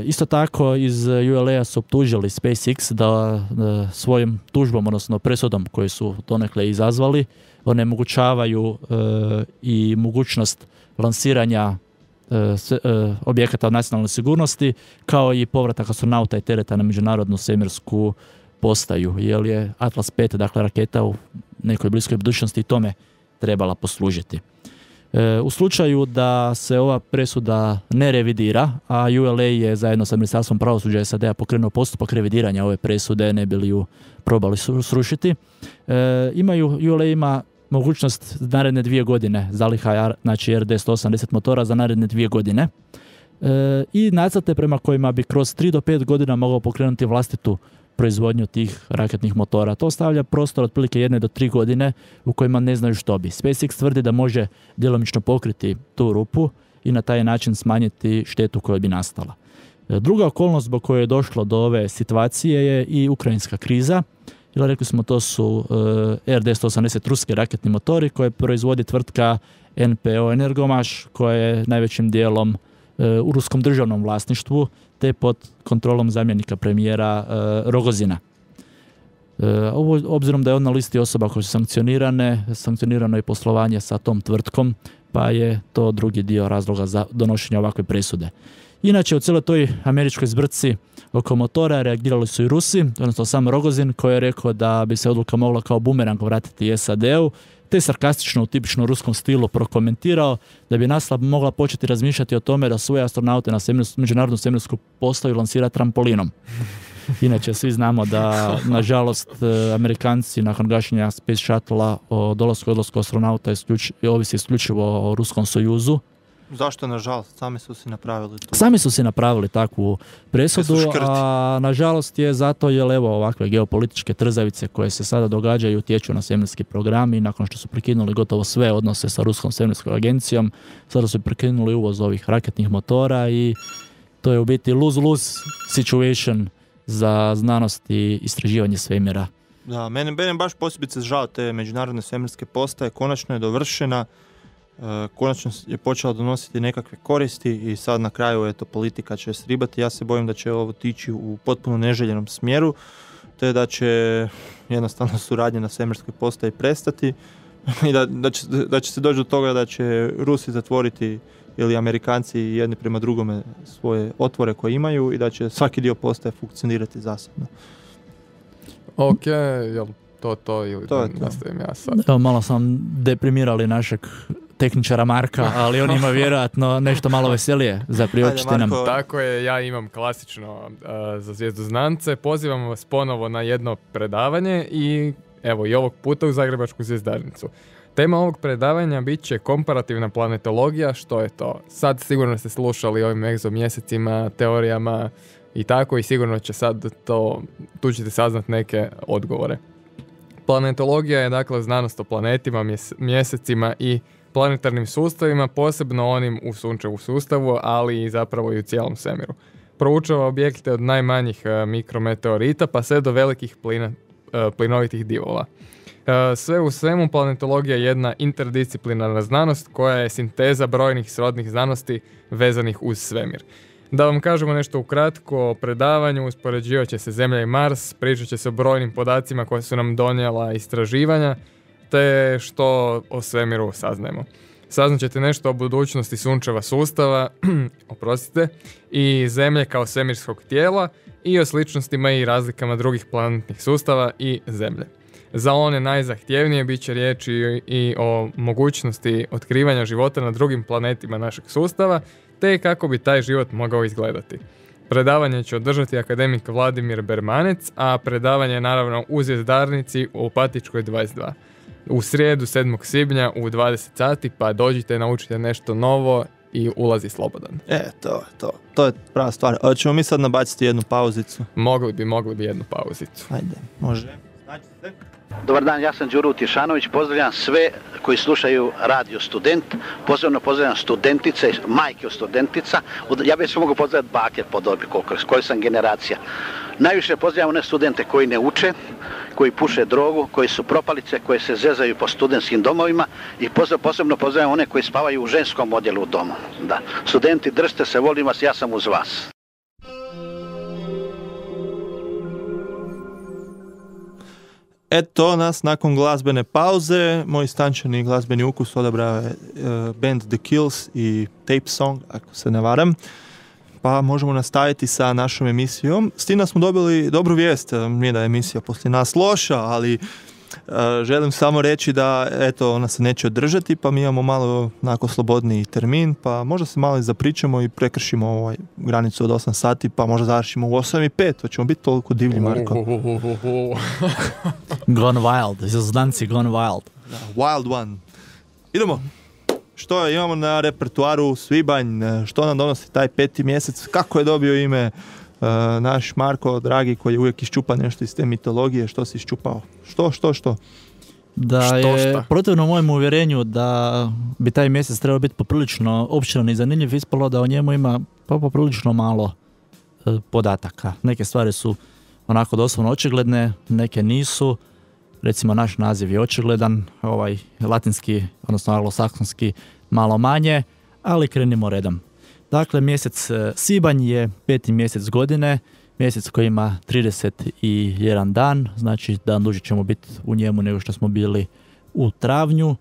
Isto tako iz ULA su optužili SpaceX da svojim tužbom, odnosno presudom koju su donekle izazvali, onemogućavaju i mogućnost lansiranja objekata od nacionalne sigurnosti, kao i povratak astronauta i tereta na međunarodnu svemirsku postaju, jer je Atlas 5, dakle raketa u nekoj bliskoj budućnosti tome trebala poslužiti. U slučaju da se ova presuda ne revidira, a ULA je zajedno sa Ministarstvom pravosuđa SAD-a pokrenuo postupak revidiranja ove presude, ne bi li ju probali srušiti, ULA ima mogućnost naredne 2 godine zaliha, znači RD-180 motora za naredne 2 godine i nacrte prema kojima bi kroz 3 do 5 godina mogao pokrenuti vlastitu proizvodnju tih raketnih motora. To ostavlja prostor otprilike 1 do 3 godine u kojima ne znaju što bi. SpaceX tvrdi da može djelomično pokriti tu rupu i na taj način smanjiti štetu koja bi nastala. Druga okolnost zbog koje je došlo do ove situacije je i ukrajinska kriza. Ili rekli smo, to su RD-180 ruski raketni motori koje proizvodi tvrtka NPO Energomaš, koja je najvećim dijelom u ruskom državnom vlasništvu, te pod kontrolom zamjenika premijera Rogozina. Obzirom da je on na listi osoba koje su sankcionirano je poslovanje sa tom tvrtkom, pa je to drugi dio razloga za donošenje ovakve presude. Inače, u cijeloj toj američkoj zbrci oko motora reagirali su i Rusi, odnosno sam Rogozin, koji je rekao da bi se odluka mogla kao bumerang vratiti SAD-u, te sarkastično u tipičnom ruskom stilu prokomentirao da bi NASA mogla početi razmišljati o tome da svoje astronaute na međunarodnu svemirsku postaju lansira trampolinom. Inače, svi znamo da, nažalost, Amerikanci nakon gašenja Space Shuttle-a o dolasku i odlasku astronauta ovisi isključivo o Ruskom Sojuzu. Zašto, nažalost? Sami su si napravili takvu presudu, a nažalost je zato jer evo ovakve geopolitičke trzavice koje se sada događaju utječu na svemirski program i nakon što su prekinuli gotovo sve odnose sa Ruskom svemirskom agencijom, sada su prekinuli uvoz ovih raketnih motora i to je u biti lose-lose situation za znanost i istraživanje svemira. Da, mene baš posebice žao te međunarodne svemirske postaje, konačno je dovršena, konačno je počela donositi nekakve koristi i sad na kraju eto politika će sribati. Ja se bojim da će ovo tići u potpuno neželjenom smjeru, te da će jednostavno suradnja na svemirskoj postaji prestati i da će se doći do toga da će Rusi zatvoriti ili Amerikanci jedni prema drugome svoje otvore koje imaju i da će svaki dio postaje funkcionirati zasebno. Ok, jel to ili To da je to. nastavim ja sad. Evo, malo sam deprimirali našeg tehničara Marka, ali on ima vjerojatno nešto malo veselije za priopćiti Ajde, nam. Marko. Tako je, ja imam klasično za Zvijezdu znance. Pozivam vas ponovo na jedno predavanje i evo i ovog puta u Zagrebačku zvjezdarnicu. Tema ovog predavanja bit će komparativna planetologija. Što je to? Sad sigurno ste slušali o ovim egzomjesecima, teorijama i tako, i sigurno će sad tu ćete saznati neke odgovore. Planetologija je dakle znanost o planetima, mjesecima i planetarnim sustavima, posebno onim u sunčevu sustavu, ali i zapravo i u cijelom svemiru. Proučava objekte od najmanjih mikrometeorita pa sve do velikih plinovitih divova. Sve u svemu, planetologija je jedna interdisciplinarna znanost koja je sinteza brojnih srodnih znanosti vezanih uz svemir. Da vam kažemo nešto ukratko o predavanju, uspoređivat će se Zemlja i Mars, pričat će se o brojnim podacima koje su nam donijela istraživanja, te što o svemiru saznajemo. Saznat ćete nešto o budućnosti sunčeva sustava, i Zemlje kao svemirskog tijela i o sličnostima i razlikama drugih planetnih sustava i Zemlje. Za one najzahtjevnije bit će riječi i o mogućnosti otkrivanja života na drugim planetima našeg sustava, te kako bi taj život mogao izgledati. Predavanje će održati akademik Vladimir Bermanec, a predavanje je naravno u Zvjezdarnici u Opatičkoj 22. U srijedu 7. svibnja u 20 sati, pa dođite, naučite nešto novo i ulazi slobodan. To je prava stvar. Ćemo mi sad nabaciti jednu pauzicu. Mogli bi jednu pauzicu. Ajde, može. Znači se. Dobar dan, ja sam Đuro Utješanović, pozdravljam sve koji slušaju Radio Student, posebno pozdravljam studentice, majke od studentica, ja bih se mogu pozdraviti bake po dobi, koji sam generacija. Najviše pozdravljam one studente koji ne uče, koji puše drogu, koji su propalice, koji se zezaju po studentskim domovima i posebno pozdravljam one koji spavaju u ženskom odjelu u domu. Da. Studenti, držite se, volim vas, ja sam uz vas. Eto nas nakon glazbene pauze, moj stančani glazbeni ukus odabrao je band The Kills i Tape Song, ako se ne varam. Pa možemo nastaviti sa našom emisijom. S tim da smo dobili dobru vijest, nije da je emisija poslije nas loša, ali želim samo reći da eto, ona se neće održati, pa mi imamo malo onako slobodniji termin, pa možda se malo i zapričamo i prekršimo ovaj granicu od 8 sati, pa možda završimo u 8:05, to ćemo biti toliko divlji, Marko. Gone wild, Zvjezdanci Gone wild. Da, wild one. Idemo. Što imamo na repertuaru svibanj, što nam donosi taj 5. mjesec, kako je dobio ime naš Marko, dragi, koji je uvijek iščupa nešto iz te mitologije, što si iščupao? Što? Da je protivno mojem uvjerenju da bi taj mjesec trebao biti poprilično opširan i zanimljiv, ispalo da o njemu ima poprilično malo podataka. Neke stvari su onako doslovno očigledne, neke nisu. Recimo naš naziv je očigledan, ovaj latinski, odnosno anglosaksonski malo manje, ali krenimo redom. Dakle, mjesec svibanj je 5. mjesec godine, mjesec koji ima 31 dan, znači dan duže ćemo biti u njemu nego što smo bili u travnju.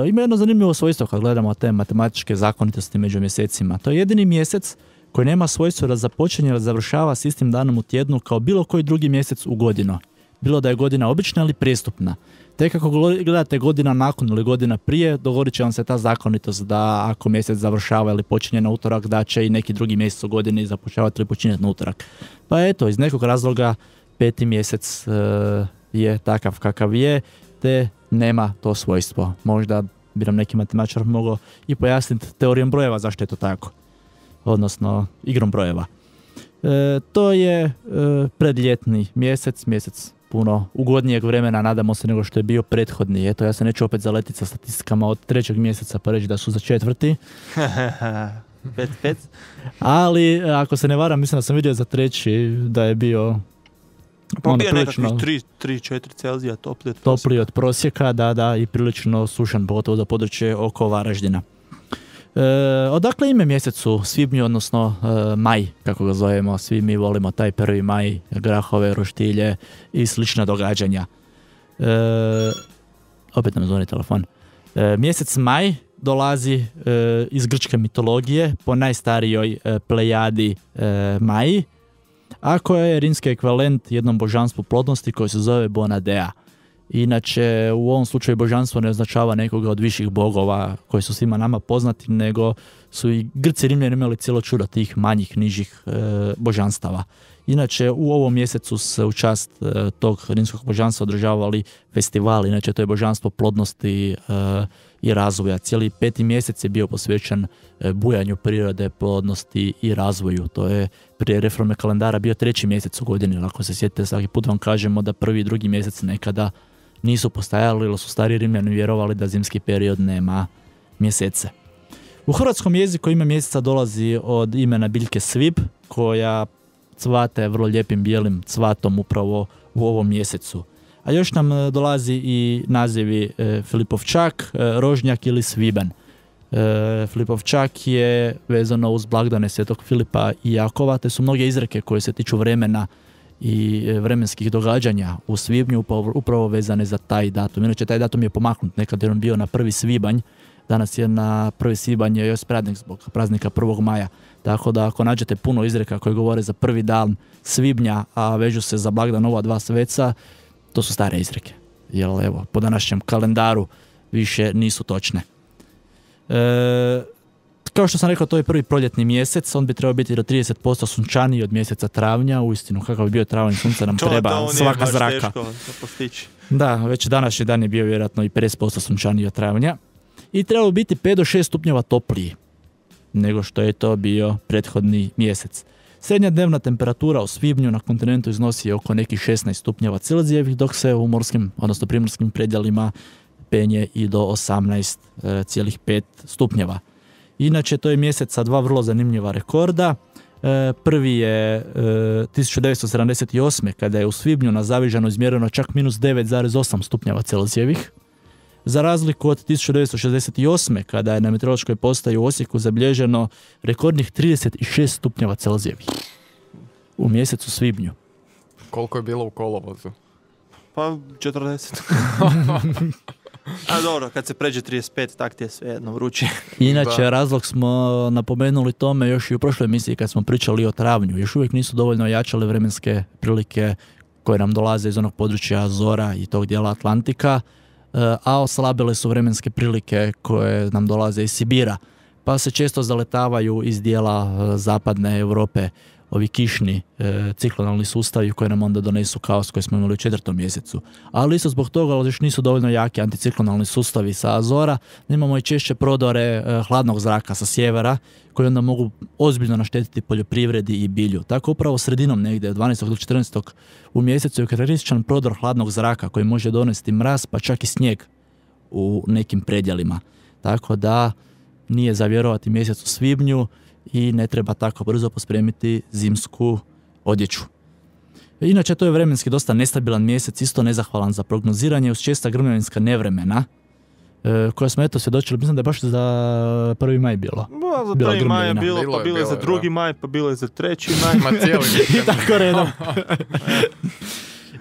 Ima jedno zanimljivo svojstvo kad gledamo te matematičke zakonitosti među mjesecima. To je jedini mjesec koji nema svojstvo da započinje ili završava s istim danom u tjednu kao bilo koji drugi mjesec u godinu. Bilo da je godina obična ili prijestupna. Tek ako gledate godina nakon ili godina prije, dogodit će vam se ta zakonitost da ako mjesec završava ili počinje na utorak, da će i neki drugi mjesec u godini započavati ili počinjati na utorak. Pa eto, iz nekog razloga 5. mjesec je takav kakav je, te nema to svojstvo. Možda bi nam neki matematičar mogao i pojasniti teorijom brojeva zašto je to tako. Odnosno igrom brojeva. To je predljetni mjesec puno ugodnijeg vremena, nadamo se, nego što je bio prethodni. Eto, ja se neću opet zaletiti sa statistikama od 3. mjeseca pa reći da su za 4. 5. Ali, ako se ne varam, mislim da sam vidio za 3. da je bio pa bio nekakvih 3-4 Celzija topliji od prosjeka, da, i prilično sušan, pogotovo za područje oko Varaždina. Odakle ime mjesecu svibnju, odnosno maj, kako ga zovemo, svi mi volimo taj 1. maj, grahove, roštilje i slična događanja. Opet nam zvoni telefon. Mjesec maj dolazi iz grčke mitologije po najstarijoj plejadi Maji, a koja je rimski ekvivalent jednom božanstvu plodnosti koji se zove Bonadea. Inače, u ovom slučaju božanstvo ne označava nekoga od viših bogova koji su svima nama poznati, nego su i Grci i Rimljani imali cijelo čudo tih manjih, nižih božanstava. Inače, u ovom mjesecu se u čast tog rimskog božanstva održavali festivali. Inače, to je božanstvo plodnosti i razvoja. Cijeli 5. mjesec je bio posvećen bujanju prirode, plodnosti i razvoju. To je prije reforme kalendara bio 3. mjesec u godini. Ako se sjetite, svaki put vam kažemo da 1. i 2. mjesec nekada nisu postajali, ili su stari Rimljani vjerovali da zimski period nema mjesece. U hrvatskom jeziku ime mjeseca dolazi od imena biljke svib, koja cvate vrlo lijepim bijelim cvatom upravo u ovom mjesecu. A još nam dolazi i nazivi Filipovčak, Rožnjak ili Svibanj. Filipovčak je vezano uz blagdane Svetog Filipa i Jakova, te su mnoge izreke koje se tiču vremena i vremenskih događanja u svibnju upravo vezane za taj datum. Inače, taj datum je pomaknut, nekad je on bio na 1. svibanj, danas je na 1. svibanj još praznik zbog praznika 1. maja. Tako da ako nađete puno izreka koje govore za prvi dan svibnja, a vežu se za blagdan ova dva sveca, to su stare izreke. Jer evo, po današnjem kalendaru više nisu točne. Kao što sam rekao, to je prvi proljetni mjesec, on bi trebao biti do 30% sunčaniji od mjeseca travnja. Uistinu, kakav bi bio travanj, sunca nam treba svaka zraka. Da, već današnji dan je bio vjerojatno i 50% sunčaniji od travnja. I trebalo biti 5 do 6 stupnjeva topliji nego što je to bio prethodni mjesec. Srednja dnevna temperatura u svibnju na kontinentu iznosi oko nekih 16 stupnjeva Celzijevih, dok se u morskim, odnosno primorskim predjelima penje i do 18,5 stupnjeva. Inače, to je mjesec sa dva vrlo zanimljiva rekorda. Prvi je 1978. kada je u svibnju na Zavižanu izmjereno čak minus 9,8 stupnjeva Celzijevih. Za razliku od 1968. kada je na meteorološkoj postaji u Osijeku zabilježeno rekordnih 36 stupnjeva Celzijevih u mjesecu svibnju. Koliko je bilo u kolovozu? Pa 40. A dobro, kad se pređe 35, tak ti je sve jedno vruće. Inače, razlog smo napomenuli tome još i u prošloj emisiji kad smo pričali o travnju. Još uvijek nisu dovoljno jačale vremenske prilike koje nam dolaze iz onog područja Azora i tog dijela Atlantika, a oslabile su vremenske prilike koje nam dolaze iz Sibira, pa se često zaletavaju iz dijela zapadne Europe ovi kišni ciklonalni sustavi koji nam onda donesu kaos koji smo imali u 4. mjesecu. Ali isto zbog toga još nisu dovoljno jaki anticiklonalni sustavi sa Azora, imamo i češće prodore hladnog zraka sa sjevera koji onda mogu ozbiljno naštetiti poljoprivredi i bilju. Tako upravo sredinom negdje od 12. do 14. u mjesecu je karakterističan prodor hladnog zraka koji može donesti mraz pa čak i snijeg u nekim predjelima. Tako da nije za vjerovati mjesec u svibnju i ne treba tako brzo pospremiti zimsku odjeću. Inače, to je vremenski dosta nestabilan mjesec, isto nezahvalan za prognoziranje uz česta grmljavinska nevremena, koja smo eto svjedočili, mislim da je baš za 1. maj bilo. Za 1. maj je bilo, pa bilo je za 2. maj, pa bilo je za 3. maj. Ma cijeli I tako redom.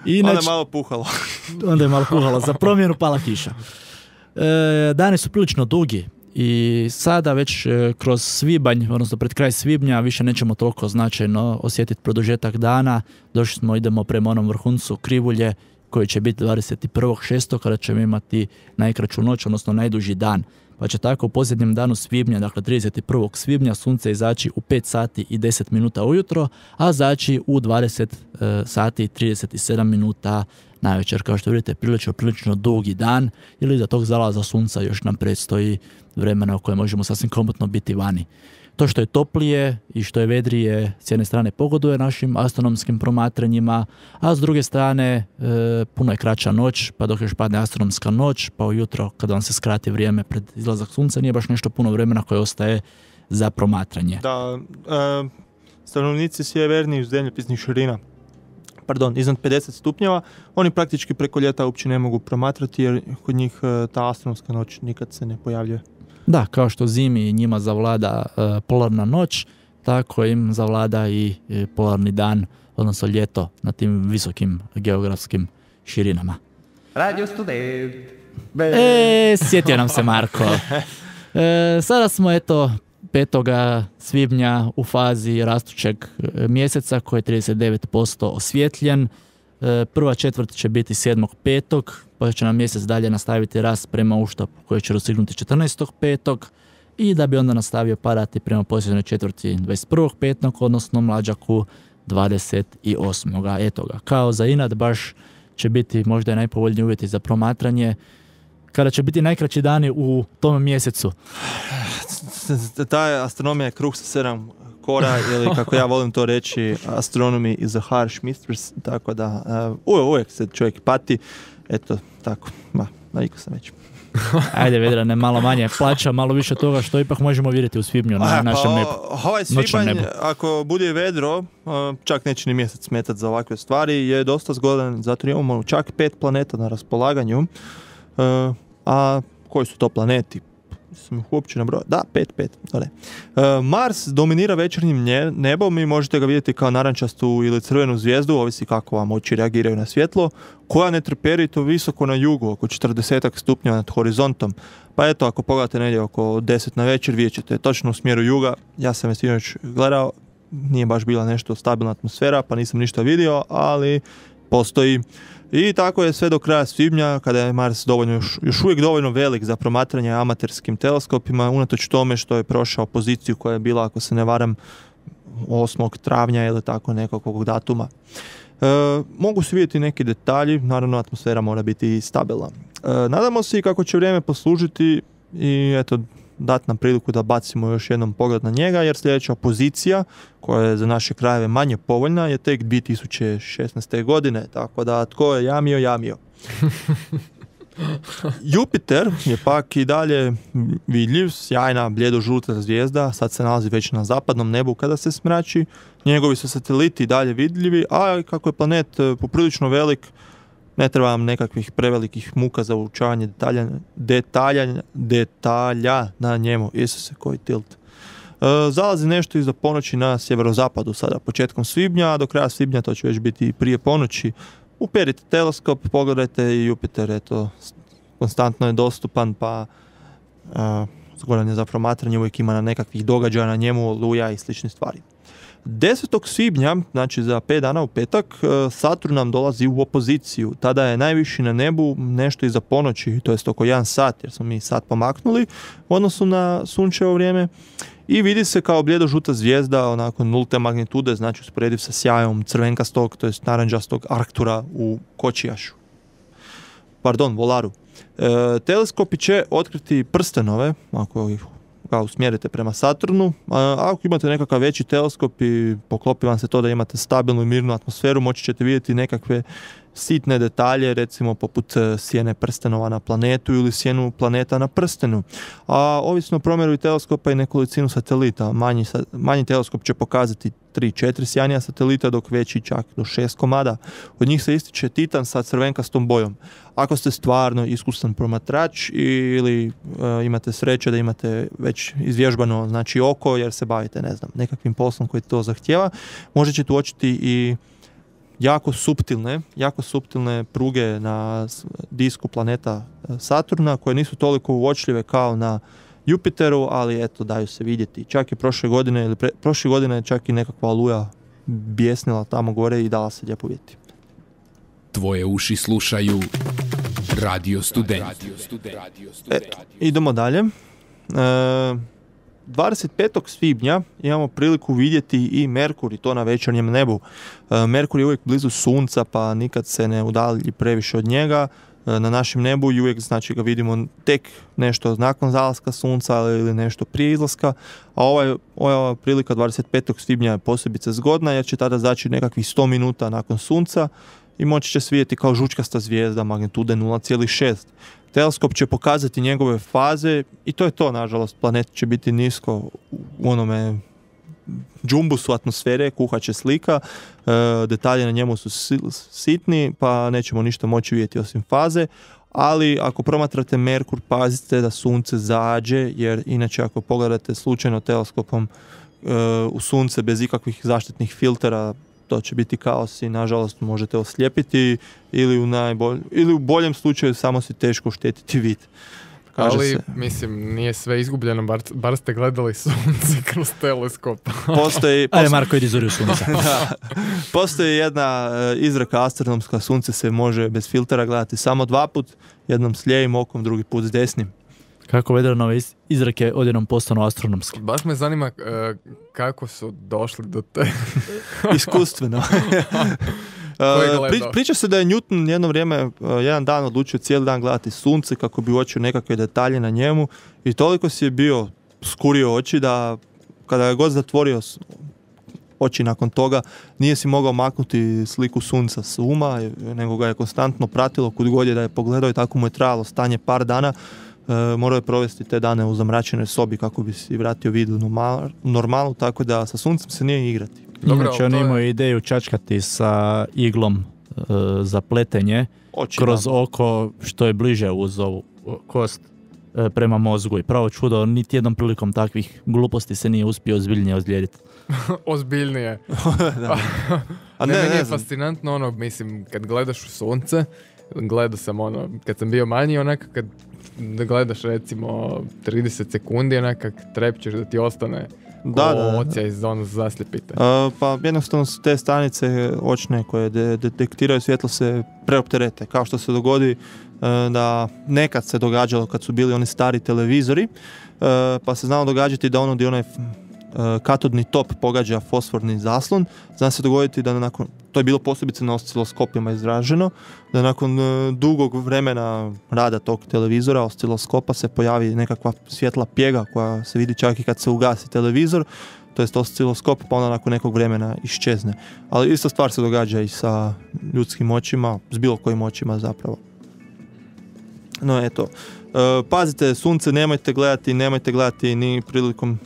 Onda je malo puhalo. Onda je malo puhalo, za promjenu pala kiša. Dani su prilično dugi. I sada već kroz svibanj, odnosno pred kraj svibnja, više nećemo toliko značajno osjetiti produžetak dana. Idemo prema onom vrhuncu krivulje koji će biti 21.6. kada ćemo imati najkraću noć, odnosno najduži dan. Pa će tako u posljednjem danu svibnja, dakle 31. svibnja, sunce izaći u 5 sati i 10 minuta ujutro, a zaći u 20 sati i 37 minuta navečer. Kao što vidite, prilično dugi dan, ili za tog zalaza sunca još nam predstoji vremena u kojem možemo sasvim komotno biti vani. To što je toplije i što je vedrije s jedne strane pogoduje našim astronomskim promatranjima, a s druge strane puno je kraća noć, pa dok još padne astronomska noć, pa ujutro kada vam se skrati vrijeme pred izlazak sunca, nije baš nešto puno vremena koje ostaje za promatranje. Da, stanovnici sjevernijih zemljopisnih širina, iznad 50 stupnjeva, oni praktički preko ljeta uopće ne mogu promatrati jer kod njih ta astronomska noć nikad se ne pojavljuje. Da, kao što zimi njima zavlada polarna noć, tako im zavlada i polarni dan, odnosno ljeto na tim visokim geografskim širinama. Radio Student. Sjetio nam se Marko. Sada smo 5. svibnja u fazi rastućeg mjeseca koji je 39% osvjetljen. Prva četvrt će biti 7.5. pa će nam mjesec dalje nastaviti rast prema uštapu koji će dosignuti 14.5. i da bi onda nastavio padati prema posljednjoj četvrti 21.5. odnosno mlađaku 28. Eto ga, kao za inat baš će biti možda i najpovoljniji uvjeti za promatranje kada će biti najkraći dani u tom mjesecu. Ta astronomija je kruh sa 7 kora, ili kako ja volim to reći, astronomy is a harsh mistress, tako da uvijek se čovjek pati, eto, tako, navikao sam već. Ajde, Vedrane, malo manje plaća, malo više toga što ipak možemo vidjeti u svibnju na našem nebu. Ovaj svibanj, ako bude vedro, čak neće ni mjesec smetati za ovakve stvari, je dosta zgodan, zato imamo čak 5 planeta na raspolaganju, a koji su to planeti? Sam ih uopće nabrojao. Da, 5. Mars dominira večernjim nebom i možete ga vidjeti kao narančastu ili crvenu zvijezdu, ovisi kako vam oči reagiraju na svjetlo, koja ne treperito visoko na jugu, oko 40 stupnjeva nad horizontom. Pa eto, ako pogledate negdje oko 10 na večer, vidjet ćete točno u smjeru juga. Ja sam je sinoć gledao, nije baš bila nešto stabilna atmosfera, pa nisam ništa vidio, ali postoji. I tako je sve do kraja svibnja, kada je Mars još uvijek dovoljno velik za promatranje amaterskim teleskopima, unatoč tome što je prošao poziciju koja je bila, ako se ne varam, 8. travnja ili tako nekakvog datuma. Mogu se vidjeti neki detalji, naravno atmosfera mora biti stabilna. Nadamo se i kako će vrijeme poslužiti i eto, dati nam priliku da bacimo još jednom pogled na njega, jer sljedeća pozicija, koja je za naše krajeve manje povoljna, je tek 2016. godine, tako da tko je jamio. Jupiter je pak i dalje vidljiv, sjajna bljedo-žuta zvijezda, sad se nalazi već na zapadnom nebu kada se smrači, njegovi su sateliti dalje vidljivi, a kako je planet poprilično velik, ne treba vam nekakvih prevelikih muka za uočavanje detalja na njemu. Isuse, koji tilt. Zalazi nešto iza ponoći na sjeverozapadu sada, početkom svibnja, a do kraja svibnja to će već biti prije ponoći. Uperite teleskop, pogledajte i Jupiter, eto, konstantno je dostupan, pa zgodan je za promatranje, uvijek ima nekakvih događaja na njemu, oluja i slične stvari. 10. svibnja, znači za 5 dana u petak, Saturn nam dolazi u opoziciju. Tada je najviši na nebu nešto iza ponoći, to jest oko 1 sat, jer smo mi sat pomaknuli u odnosu na sunčevo vrijeme. I vidi se kao bljedo-žuta zvijezda, onako nulte magnitude, znači usporediv sa sjajom crvenkastog, to jest naranđastog Arctura u Kočijašu. Volaru. Teleskopi će otkriti prstenove, ako ih usmjerite prema Saturnu, a ako imate nekakav veći teleskop i poklopi vam se to da imate stabilnu i mirnu atmosferu, moći ćete vidjeti nekakve sitne detalje, recimo poput sjene prstenova na planetu ili sjenu planeta na prstenu. A ovisno o promjeru teleskopa i nekolicinu satelita, manji teleskop će pokazati 3-4 sjajnija satelita, dok veći čak do 6 komada. Od njih se ističe Titan sa crvenkastom bojom. Ako ste stvarno iskusan promatrač ili imate sreće da imate već izvježbano, znači, oko, jer se bavite, ne znam, nekakvim poslom koji to zahtjeva, možete ćete uočiti i jako suptilne pruge na disku planeta Saturna, koje nisu toliko uočljive kao na Jupiteru, ali eto, daju se vidjeti. Čak i prošle godine čak i nekakva oluja bjesnila tamo gore i dala se lijepo vidjeti. Tvoje uši slušaju Radio Student. Idemo dalje. 25. svibnja imamo priliku vidjeti i Merkur, i to na večernjem nebu. Merkur je uvijek blizu Sunca, pa nikad se ne udalji previše od njega na našem nebu i uvijek, znači, ga vidimo tek nešto nakon zalaska Sunca ili nešto prije izlaska, a ova prilika 25. svibnja je posebice zgodna, jer će tada zaći nekakvih 100 minuta nakon Sunca i moći će se vidjeti kao žučkasta zvijezda magnitude 0,6. Teleskop će pokazati njegove faze i to je to, nažalost. Planet će biti nisko u onome džumbusu atmosfere, kuhaće slika, detalje na njemu su sitni, pa nećemo ništa moći vidjeti osim faze, ali ako promatrate Merkur, pazite da Sunce zađe, jer inače ako pogledate slučajno teleskopom u Sunce bez ikakvih zaštitnih filtera, to će biti kaos i nažalost možete oslijepiti ili u boljem slučaju samo si teško oštetiti vid. Kaže ali, se. mislim, nije sve izgubljeno, bar ste gledali sunce kroz teleskop. Ajde, Marko, idi zuri u sunce. Postoji jedna izreka astronomska, sunce se može bez filtera gledati samo 2 put, jednom s lijevim okom, drugi put s desnim. Kako Vedranove izreke odjednom postanu astronomski? Baš me zanima kako su došli do te... Iskustveno. Priča se da je Newton jedno vrijeme, jedan dan odlučio cijeli dan gledati sunce kako bi uočio nekakve detalje na njemu i toliko si je bio skurio oči da kada je god zatvorio oči nakon toga nije si mogao maknuti sliku sunca s uma, nego ga je konstantno pratilo kud god je da je pogledao i tako mu je trajalo stanje par dana. Morao je provesti te dane u zamračenoj sobi kako bi si vratio vid u normalu, tako da sa suncem se nije igrati. Dobro, Inače, on imao ideju čačkati sa iglom za pletenje kroz oko što je bliže uz ovu kost prema mozgu. I pravo čudo, niti jednom prilikom takvih gluposti se nije uspio ozbiljnije ozlijediti. Ozbiljnije. A meni je fascinantno ono, mislim, kad gledaš u sunce, gledao sam ono, kad sam bio manji, onako kad gledaš recimo 30 sekundi, onako trepćeš da ti ostane ocija iz ono zaslijepite. Pa jednostavno su te stanice očne koje detektiraju svjetlo se preopterete, kao što se dogodi da nekad se događalo kad su bili oni stari televizori, pa se znalo događati da ono gdje onaj katodni top pogađa fosforni zaslon, zna se dogoditi da nakon, to je bilo posebice na osciloskopima izraženo, da nakon dugog vremena rada tog televizora, osciloskopa, se pojavi nekakva svjetla pjega koja se vidi čak i kad se ugasi televizor, to jest osciloskop, pa onda nakon nekog vremena iščezne. Ali ista stvar se događa i sa ljudskim očima, s bilo kojim očima zapravo. No eto, pazite, sunce nemojte gledati ni prilikom,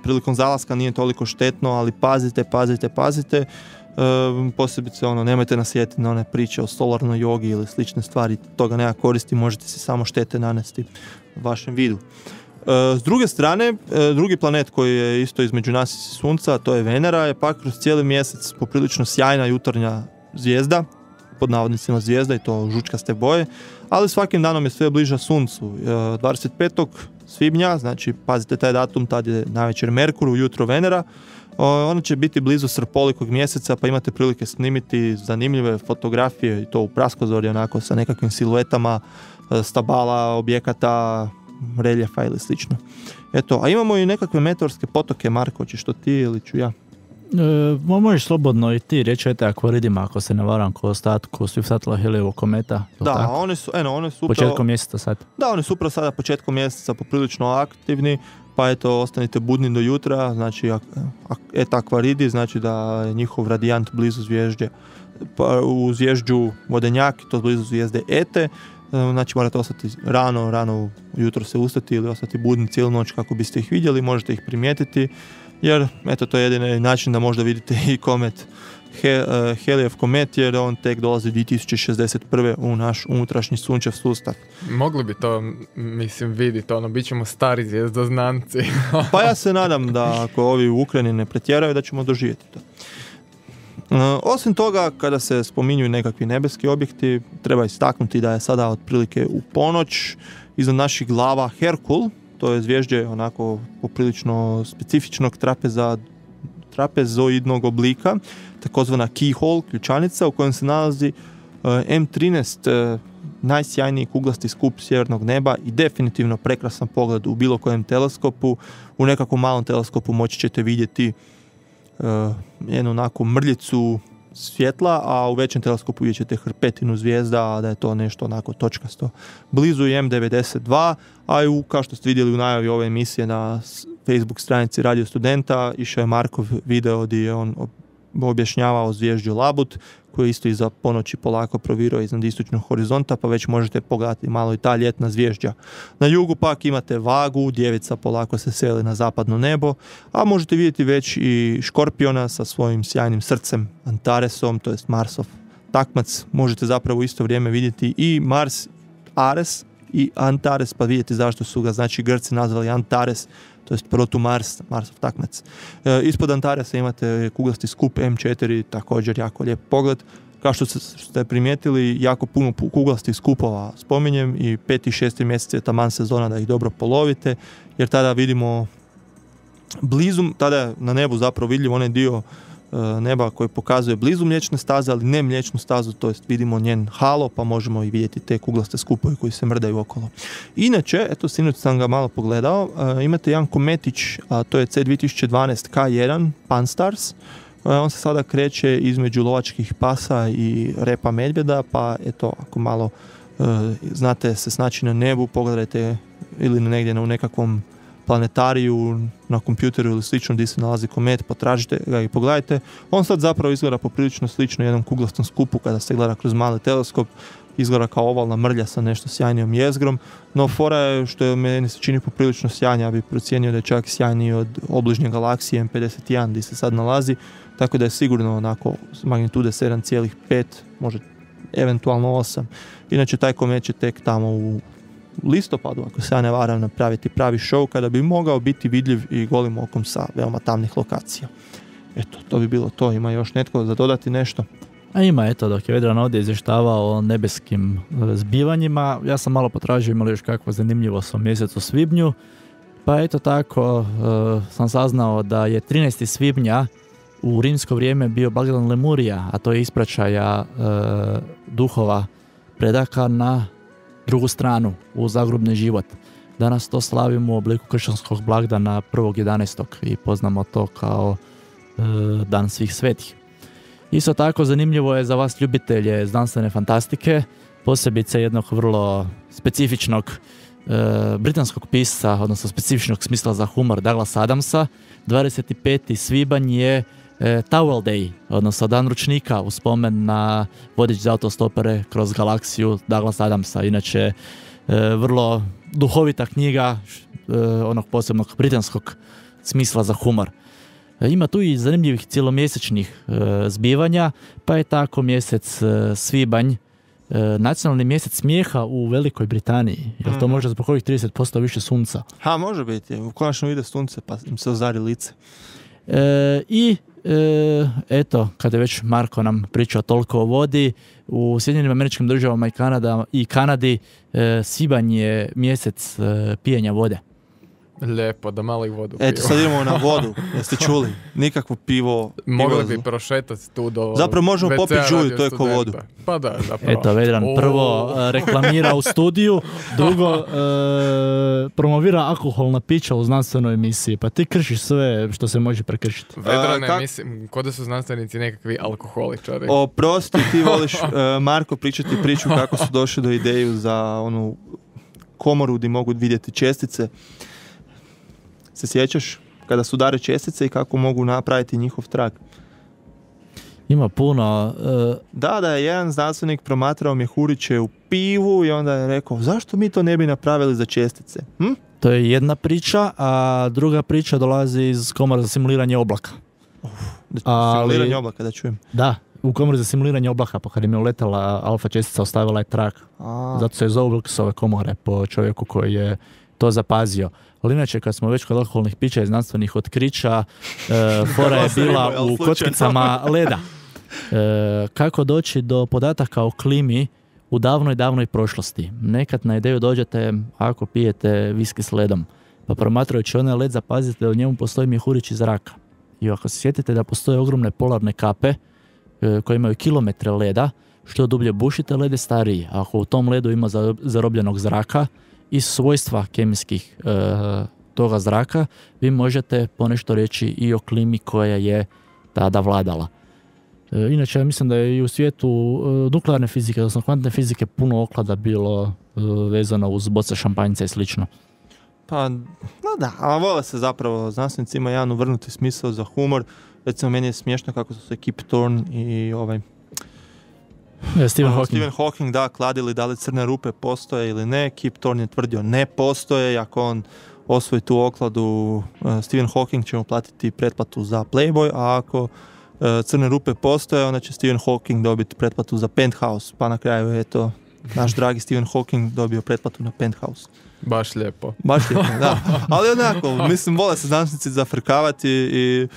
prilikom zalaska nije toliko štetno, ali pazite, posebice ono, nemojte nasjetiti na one priče o solarnoj jogi ili slične stvari, toga nema koristi, možete si samo štete nanesti vašem vidu. S druge strane, drugi planet koji je isto između nas i sunca, to je Venera, je pak kroz cijeli mjesec poprilično sjajna jutarnja zvijezda, pod navodnicima zvijezda, i to žučkaste boje, ali svakim danom je sve bliža suncu. 25. svibnja, znači pazite taj datum, tad je navečer Merkur, ujutro Venera, ona će biti blizu srpolikog mjeseca, pa imate prilike snimiti zanimljive fotografije, i to u praskozorju, onako sa nekakvim siluetama stabala, objekata, reljefa ili slično. Eto, a imamo i nekakve meteorske potoke. Marko, hoćeš to ti ili ću ja? Možeš slobodno i ti reći, akvaridima, ako se ne varam, ko ostatku svih satela Helijevog kometa. Da, one su upravo početkom mjeseca sad. Da, oni su upravo sada početkom mjeseca poprilično aktivni, pa eto, ostanite budni do jutra, znači et akvaridi, znači da je njihov radijant blizu zvježđe, pa u zvježđu Vodenjak, to blizu zvijezde Ete, znači morate ostati rano jutro se ustati ili ostati budni cijelu noć kako biste ih vidjeli, možete ih primijetiti, jer eto, to je jedini način da možda vidite i komet, Helijev komet, jer on tek dolazi 2061. u naš unutrašnji sunčev sustav. Mogli bi to, mislim, vidjeti, bit ćemo stari zvijezdoznanci. Pa ja se nadam da ako ovi u Ukrajini ne pretjeraju, da ćemo doživjeti to. Osim toga, kada se spominju nekakvi nebeski objekti, treba istaknuti da je sada otprilike u ponoć iznad naših glava Herkul, to je zvježđe onako poprilično specifičnog trapezoidnog oblika, takozvana keyhole, ključanica, u kojem se nalazi M13, najsjajniji kuglasti skup sjevernog neba i definitivno prekrasan pogled u bilo kojem teleskopu. U nekakvom malom teleskopu moći ćete vidjeti jednu onako mrljicu svjetla, a u većem teleskopu vidjet ćete hrpetinu zvijezda, a da je to nešto onako točkasto. Blizu je M92, a i kao što ste vidjeli u najavi ove emisije na Facebook stranici Radio Studenta, išao je Markov video gdje je on objašnjavao zvježđu Labut, koji isto iza ponoći polako provirao iznad istočnog horizonta, pa već možete pogledati malo i ta ljetna zvježđa. Na jugu pak imate Vagu, djevica polako se seli na zapadno nebo, a možete vidjeti već i Škorpiona sa svojim sjajnim srcem Antaresom, to jest Marsov takmac. Možete zapravo u isto vrijeme vidjeti i Mars Ares i Antares, pa vidjeti zašto su ga, znači, Grci nazvali Antares, to jest Protumars, Marsov takmac. Ispod Antaresa imate kuglasti skup M4, također jako lijep pogled. Kao što ste primijetili, jako puno kuglastih skupova spominjem i 5. i 6. mjesec je taman sezona da ih dobro polovite, jer tada vidimo blizu, tada je na nebu zapravo vidljiv onaj dio neba koji pokazuje blizu mliječne staze, ali ne mliječnu stazu, to jest vidimo njen halo, pa možemo i vidjeti te kuglaste skupove koji se mrdaju okolo. Inače, eto, sinoć sam ga malo pogledao, imate jedan kometić, a to je C2012 K1 Pan-STARRS. On se sada kreće između lovačkih pasa i repa medvjeda, pa eto, ako malo znate se snaći na nebu, pogledajte ili negdje u nekakvom planetariju, na kompjuteru ili slično gdje se nalazi komet, potražite ga i pogledajte. On sad zapravo izgleda poprilično slično jednom kuglastom skupu kada se gleda kroz mali teleskop, izgleda kao ovalna mrlja sa nešto sjajnijom jezgrom, no fora je što je meni se čini poprilično sjajnija, ja bih procijenio da je čak sjajniji od obližnje galaksije M51 gdje se sad nalazi, tako da je sigurno onako magnitude 7,5, može eventualno 8. Inače taj komet će tek tamo u listopadu, ako se ja ne varam, napraviti pravi show kada bi mogao biti vidljiv i golim okom sa veoma tamnih lokacija. Eto, to bi bilo to. Ima još netko za dodati nešto? A ima, eto, dok je Vedran ovdje izvještavao o nebeskim zbivanjima, ja sam malo potražio imali još kakvo zanimljivost o mjesecu svibnju, pa eto tako sam saznao da je 13. svibnja u rimsko vrijeme bio blagdan Lemurija, a to je ispraćaja duhova predaka na drugu stranu, u zagrobni život. Danas to slavimo u obliku kršćanskog blagdana 1.11. i poznamo to kao Dan svih svetih. Isto tako zanimljivo je za vas ljubitelje znanstvene fantastike, posebice jednog vrlo specifičnog britanskog pisca, odnosno specifičnog smisla za humor Douglasa Adamsa. 25. svibanj je Towel Day, odnosno Dan ručnika u spomen na vodič za autostopere kroz galaksiju Douglasa Adamsa. Inače, vrlo duhovita knjiga onog posebnog britanskog smisla za humor. Ima tu i zanimljivih cijelomjesečnih zbivanja, pa je tako mjesec svibanj nacionalni mjesec smijeha u Velikoj Britaniji. Jel to može zbog ovih 30% više sunca? Ha, može biti. U konačno ide sunce pa im se ozari lice. Eto, kada je već Marko nam pričao toliko o vodi, u Sjedinjenim Američkim Državama i Kanadi svibanj je mjesec pijenja vode. Lijepo, da malo i vodu piju. Eto, sad idemo na vodu, jeste čuli? Nikakvo pivo. Mogli bi prošetati tu do zapravo možemo popiti žulju, to je ko vodu. Pa da, zapravo. Eto, Vedran prvo reklamira u studiju, drugo promovira alkoholna pića u znanstvenoj emisiji. Pa ti kršiš sve što se može prekršiti. Vedrane, mislim, kod da su znanstvenici nekakvi alkoholičari. Oprosti, ti voliš, Marko, pričati priču kako su došli do ideju za onu komoru gdje mogu vidjeti čestice. Se sjećaš kada su udare čestice i kako mogu napraviti njihov trag? Ima puno. Da je jedan znanstvenik promatrao mjehuriće u pivu i onda je rekao, zašto mi to ne bi napravili za čestice? To je jedna priča, a druga priča dolazi iz komore za simuliranje oblaka. Simuliranje oblaka, da čujem. Da, u komori za simuliranje oblaka, pa kad im je uletala alfa čestica, ostavila je trag. Zato se je zovu Wilkesove komore po čovjeku koji je to zapazio. Ali inače, kad smo već kod alkoholnih pića i znanstvenih otkrića, fora je bila u kockicama leda. Kako doći do podataka o klimi u davnoj prošlosti? Nekad na ideju dođete ako pijete viski s ledom. Pa promatrajući onaj led zapazite da u njemu postoji mjehurići zraka. I ako se sjetite da postoje ogromne polarne kape koje imaju kilometre leda, što dublje bušite, led je stariji. Ako u tom ledu ima zarobljenog zraka, iz svojstva kemijskih toga zraka, vi možete ponešto reći i o klimi koja je tada vladala. Inače, ja mislim da je i u svijetu nuklearne fizike, odnosno kvantne fizike, puno oklada bilo vezano uz boce šampanjca i slično. Pa, no da, ali vole se zapravo, znanstvenici ima jedan uvrnuti smisao za humor. Recimo, meni je smiješno kako su se Kip Thorne i Stephen Hawking kladili da li crne rupe postoje ili ne. Kip Thorne je tvrdio ne postoje. Ako on osvoji tu okladu, Stephen Hawking će mu platiti pretplatu za Playboy, a ako crne rupe postoje, onda će Stephen Hawking dobiti pretplatu za Penthouse. Pa na kraju je to naš dragi Stephen Hawking dobio pretplatu na Penthouse. Baš lijepo, da. Ali onako, mislim, vole se znanstvenici zafrkavati i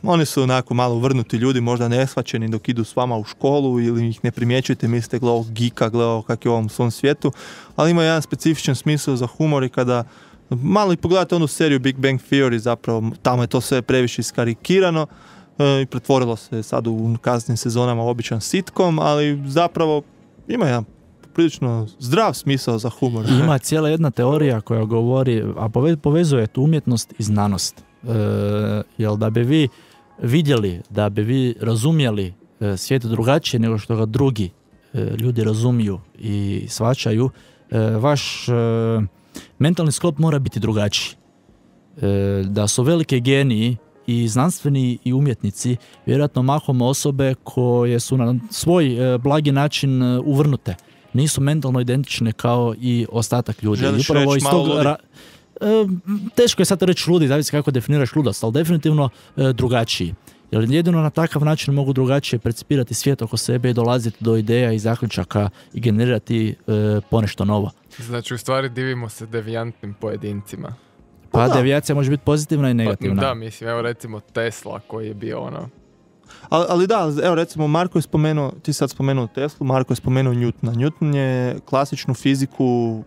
oni su onako malo vrnuti ljudi, možda neshvaćeni dok idu s vama u školu ili ih ne primjećujete, mislite gle ovog geeka, gle ovog kak je u ovom svom svijetu, ali ima jedan specifičan smisao za humor i kada malo i pogledate onu seriju Big Bang Theory, zapravo tamo je to sve previše iskarikirano i pretvorilo se sad u kasnim sezonama u običan sitcom, ali zapravo ima jedan prilično zdrav smisao za humor. Ima cijela jedna teorija koja govori, a povezuje tu umjetnost i znanost. Jel da bi vi vidjeli, da bi vi razumjeli svijet drugačije nego što ga drugi ljudi razumiju i shvaćaju, vaš mentalni sklop mora biti drugačiji. Da su velike geniji i znanstveni i umjetnici vjerojatno mahom osobe koje su na svoj blagi način uvrnute. Nisu mentalno identične kao i ostatak ljudi. Želiš upravo reći iz malo tog ludi? Teško je sad reći ludi, zavisi kako definiraš ludost, ali definitivno drugačiji. Jer jedino na takav način mogu drugačije percipirati svijet oko sebe i dolaziti do ideja i zaključaka i generirati ponešto novo. Znači, u stvari divimo se devijantnim pojedincima. Pa devijacija može biti pozitivna i negativna. Da, mislim, evo recimo Tesla koji je bio ono... Ali da, evo recimo Marko je spomenuo, ti sad spomenuo Teslu, Marko je spomenuo Newtona. Newton je klasičnu fiziku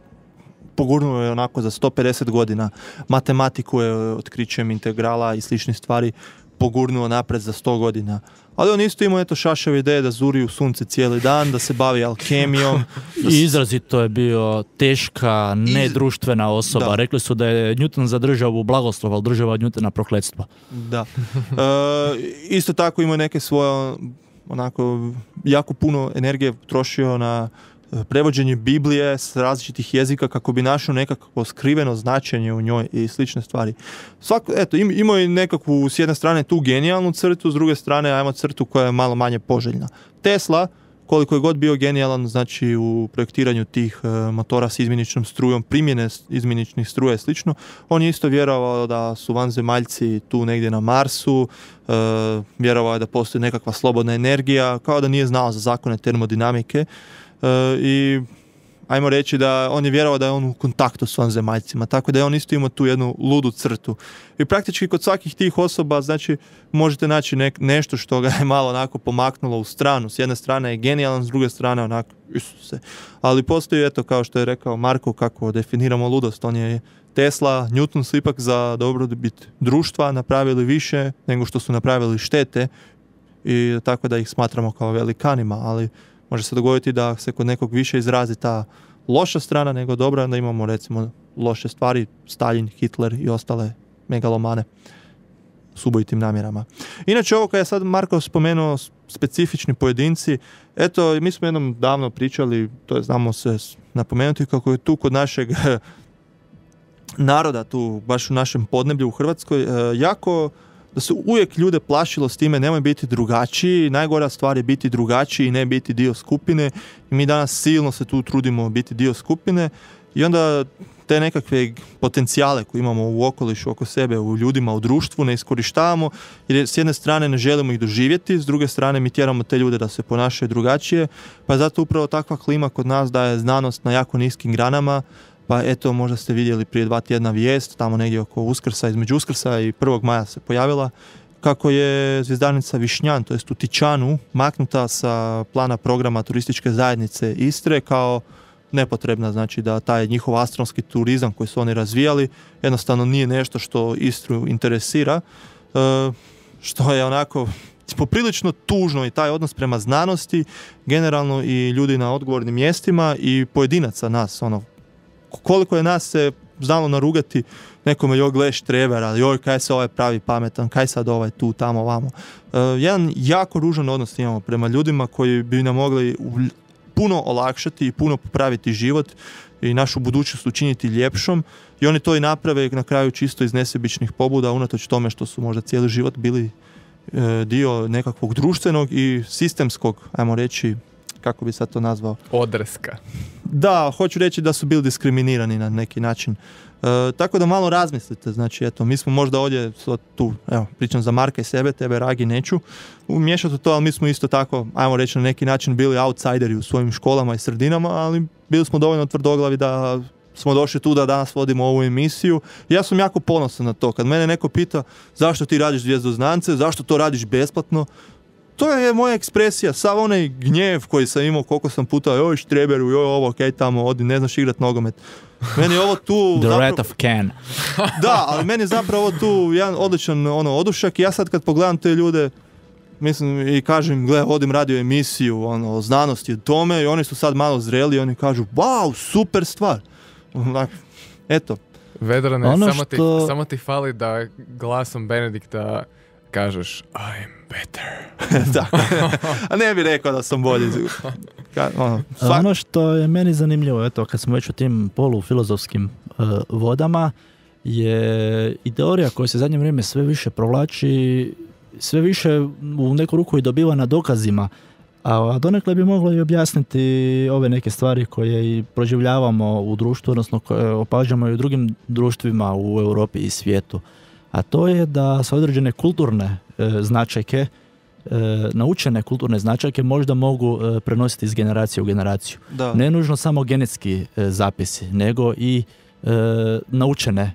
pogurnuo je onako za 150 godina. Matematiku je otkrićem integrala i sličnih stvari pogurnuo napred za 100 godina. Ali on isto imao šašave ideje da zuri u sunce cijeli dan, da se bavi alkemijom. I izrazito je bio teška, nedruštvena osoba. Da. Rekli su da je Newton za državu blagoslov, ali država od Newtona prokletstvo. Da. Isto tako imao neke svoje, onako, jako puno energije trošio na prevođenje Biblije s različitih jezika kako bi našao nekakvo skriveno značenje u njoj i slične stvari. Imao je nekakvu, s jedne strane, tu genijalnu crtu, s druge strane, ajmo crtu koja je malo manje poželjna. Tesla, koliko je god bio genijalan, znači u projektiranju tih motora s izmjeničnom strujom, primjene izmjeničnih struja i slično, on je isto vjerovao da su vanzemaljci tu negdje na Marsu, vjerovao je da postoji nekakva slobodna energija, kao da nije znao za zakone termodinamike. I ajmo reći da on je vjerovao da je on u kontaktu s vanzemaljcima, tako da je on isto imao tu jednu ludu crtu. I praktički kod svakih tih osoba, znači, možete naći nešto što ga je malo onako pomaknulo u stranu. S jedne strane je genijalan, s druge strane onako, Isuse. Ali postoji, eto, kao što je rekao Marko, kako definiramo ludost. On je Tesla, Newton su ipak za dobrobit društva napravili više nego što su napravili štete i tako da ih smatramo kao velikanima, ali može se dogoditi da se kod nekog više izrazi ta loša strana nego dobra, da imamo recimo loše stvari, Stalin, Hitler i ostale megalomane s ubojitim namjerama. Inače, ovo kad je sad Marko spomenuo specifični pojedinci, eto, mi smo jednom davno pričali, to je, znamo se napomenuti, kako je tu kod našeg naroda, tu baš u našem podneblju u Hrvatskoj, jako da se uvijek ljude plašilo s time nemoj biti drugačiji, najgora stvar je biti drugačiji i ne biti dio skupine i mi danas silno se tu trudimo biti dio skupine i onda te nekakve potencijale koje imamo u okolišu, oko sebe, u ljudima, u društvu ne iskorištavamo jer s jedne strane ne želimo ih doživjeti, s druge strane mi tjeramo te ljude da se ponašaju drugačije, pa je zato upravo takva klima kod nas da je znanost na jako niskim granama. Pa eto, možda ste vidjeli prije 2 tjedna vijest, tamo negdje oko Uskrsa, između Uskrsa i 1. maja se pojavila, kako je zvjezdarnica Višnjan, to jest u Tičanu, maknuta sa plana programa turističke zajednice Istre kao nepotrebna, znači da taj njihov astronomski turizam koji su oni razvijali jednostavno nije nešto što Istru interesira, što je onako poprilično tužno i taj odnos prema znanosti, generalno i ljudi na odgovornim mjestima i pojedinaca nas, koliko je nas se znalo narugati nekome, joj gle štreber, ali joj kaj se ovaj pravi pametan, kaj sad ovaj tu, tamo, vamo. Jedan jako ružan odnos imamo prema ljudima koji bi nam mogli puno olakšati i puno popraviti život i našu budućnost učiniti ljepšom i oni to i naprave na kraju čisto iz nesebičnih pobuda, unatoč tome što su možda cijeli život bili dio nekakvog društvenog i sistemskog, ajmo reći, kako bi sad to nazvao? Odreska. Da, hoću reći da su bili diskriminirani na neki način. Tako da malo razmislite, znači eto, mi smo možda ovdje tu, evo, pričam za Marka i sebe, tebe Ragi neću umiješati to, ali mi smo isto tako, ajmo reći na neki način bili outsideri u svojim školama i sredinama, ali bili smo dovoljno tvrdoglavi da smo došli tu da danas vodimo ovu emisiju. Ja sam jako ponosan na to. Kad mene neko pita zašto ti radiš Zvijezdoznance, zašto to radiš besplatno, to je moja ekspresija, sav onaj gnjev koji sam imao, koliko sam puta, joj štreberu, joj ovo, kaj tamo, odi, ne znaš igrat nogomet. Meni je ovo tu... The Rat of Can. Da, ali meni je zapravo tu jedan odličan odušak i ja sad kad pogledam te ljude, mislim i kažem, gle, vodim radio emisiju o znanosti, o tome i oni su sad malo zreli i oni kažu, wow, super stvar. Eto. Vedrane, samo ti fali da glasom Benedikta kažeš I'm better. Da. A ne bih rekao da sam bolji. Ono što je meni zanimljivo, eto, kad smo već u tim polufilozofskim vodama, je i teorija koja se zadnje vrijeme sve više provlači, sve više u neku ruku i dobiva na dokazima, a donekle bi moglo i objasniti ove neke stvari koje i proživljavamo u društvu, odnosno koje opažamo i u drugim društvima u Europi i svijetu. A to je da se određene kulturne značajke, naučene kulturne značajke možda mogu prenositi iz generacije u generaciju. Da. Ne nužno samo genetski zapisi, nego i naučene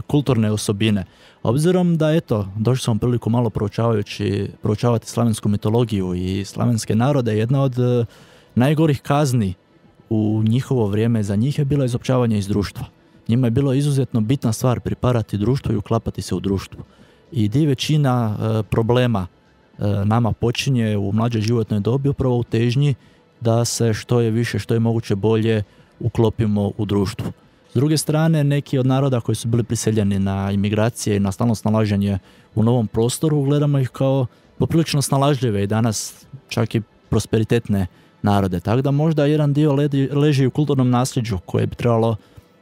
kulturne osobine. Obzirom da, eto, došli smo priliku malo proučavati slavensku mitologiju i slavenske narode, jedna od najgorih kazni u njihovo vrijeme za njih je bilo izopćavanje iz društva. Njima je bilo izuzetno bitna stvar pripadati društvu i uklapati se u društvu. I di većina problema nama počinje u mlađoj životnoj dobi upravo u težnji da se što je više, što je moguće bolje uklopimo u društvu. S druge strane, neki od naroda koji su bili priseljeni na imigracije i na stalno snalaženje u novom prostoru, gledamo ih kao poprilično snalažljive i danas čak i prosperitetne narode. Tako da možda jedan dio leži u kulturnom nasljeđu koje bi trebalo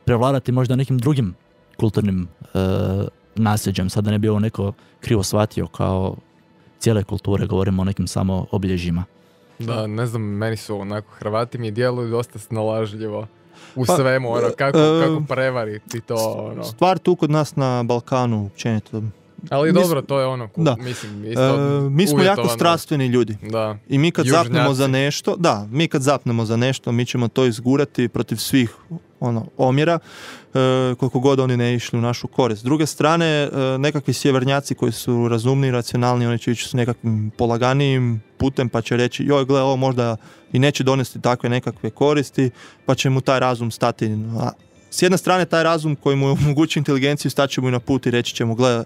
prevladati možda nekim drugim kulturnim nasljeđem. Sada ne bi ovo neko krivo shvatio kao cijele kulture, govorimo o nekim samo obilježjima. Da, ne znam, meni su onako, Hrvati mi djeluju dosta snalažljivo u svemu, kako prevariti to. Stvar tu kod nas na Balkanu, općenito. Ali dobro, to je ono, mislim, isto mi smo jako strastveni ljudi. Da. I mi kad zapnemo za nešto, mi ćemo to izgurati protiv svih omjera, koliko god oni ne išli u našu korist. S druge strane, nekakvi sjevernjaci koji su razumni i racionalni, oni će ići s nekakvim polaganijim putem, pa će reći, joj, gle, ovo možda i neće donesti takve nekakve koristi, pa će mu taj razum stati. S jedne strane, taj razum koji mu omogući inteligenciju, staće mu i na put i reći će mu, gle,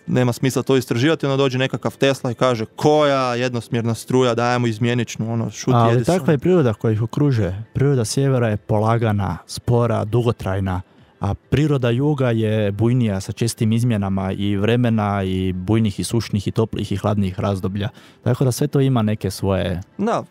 nema smisla to istraživati, onda dođe nekakav Tesla i kaže, koja jednosmjerna struja, dajemo izmjeničnu, šuti Edison. Ali takva je priroda koja ih okružuje. Priroda sjevera je polagana, spora, dugotrajna, a priroda juga je bujnija sa čestim izmjenama i vremena i bujnih i sušnih i toplih i hladnih razdoblja. Tako da sve to ima neke svoje... Da,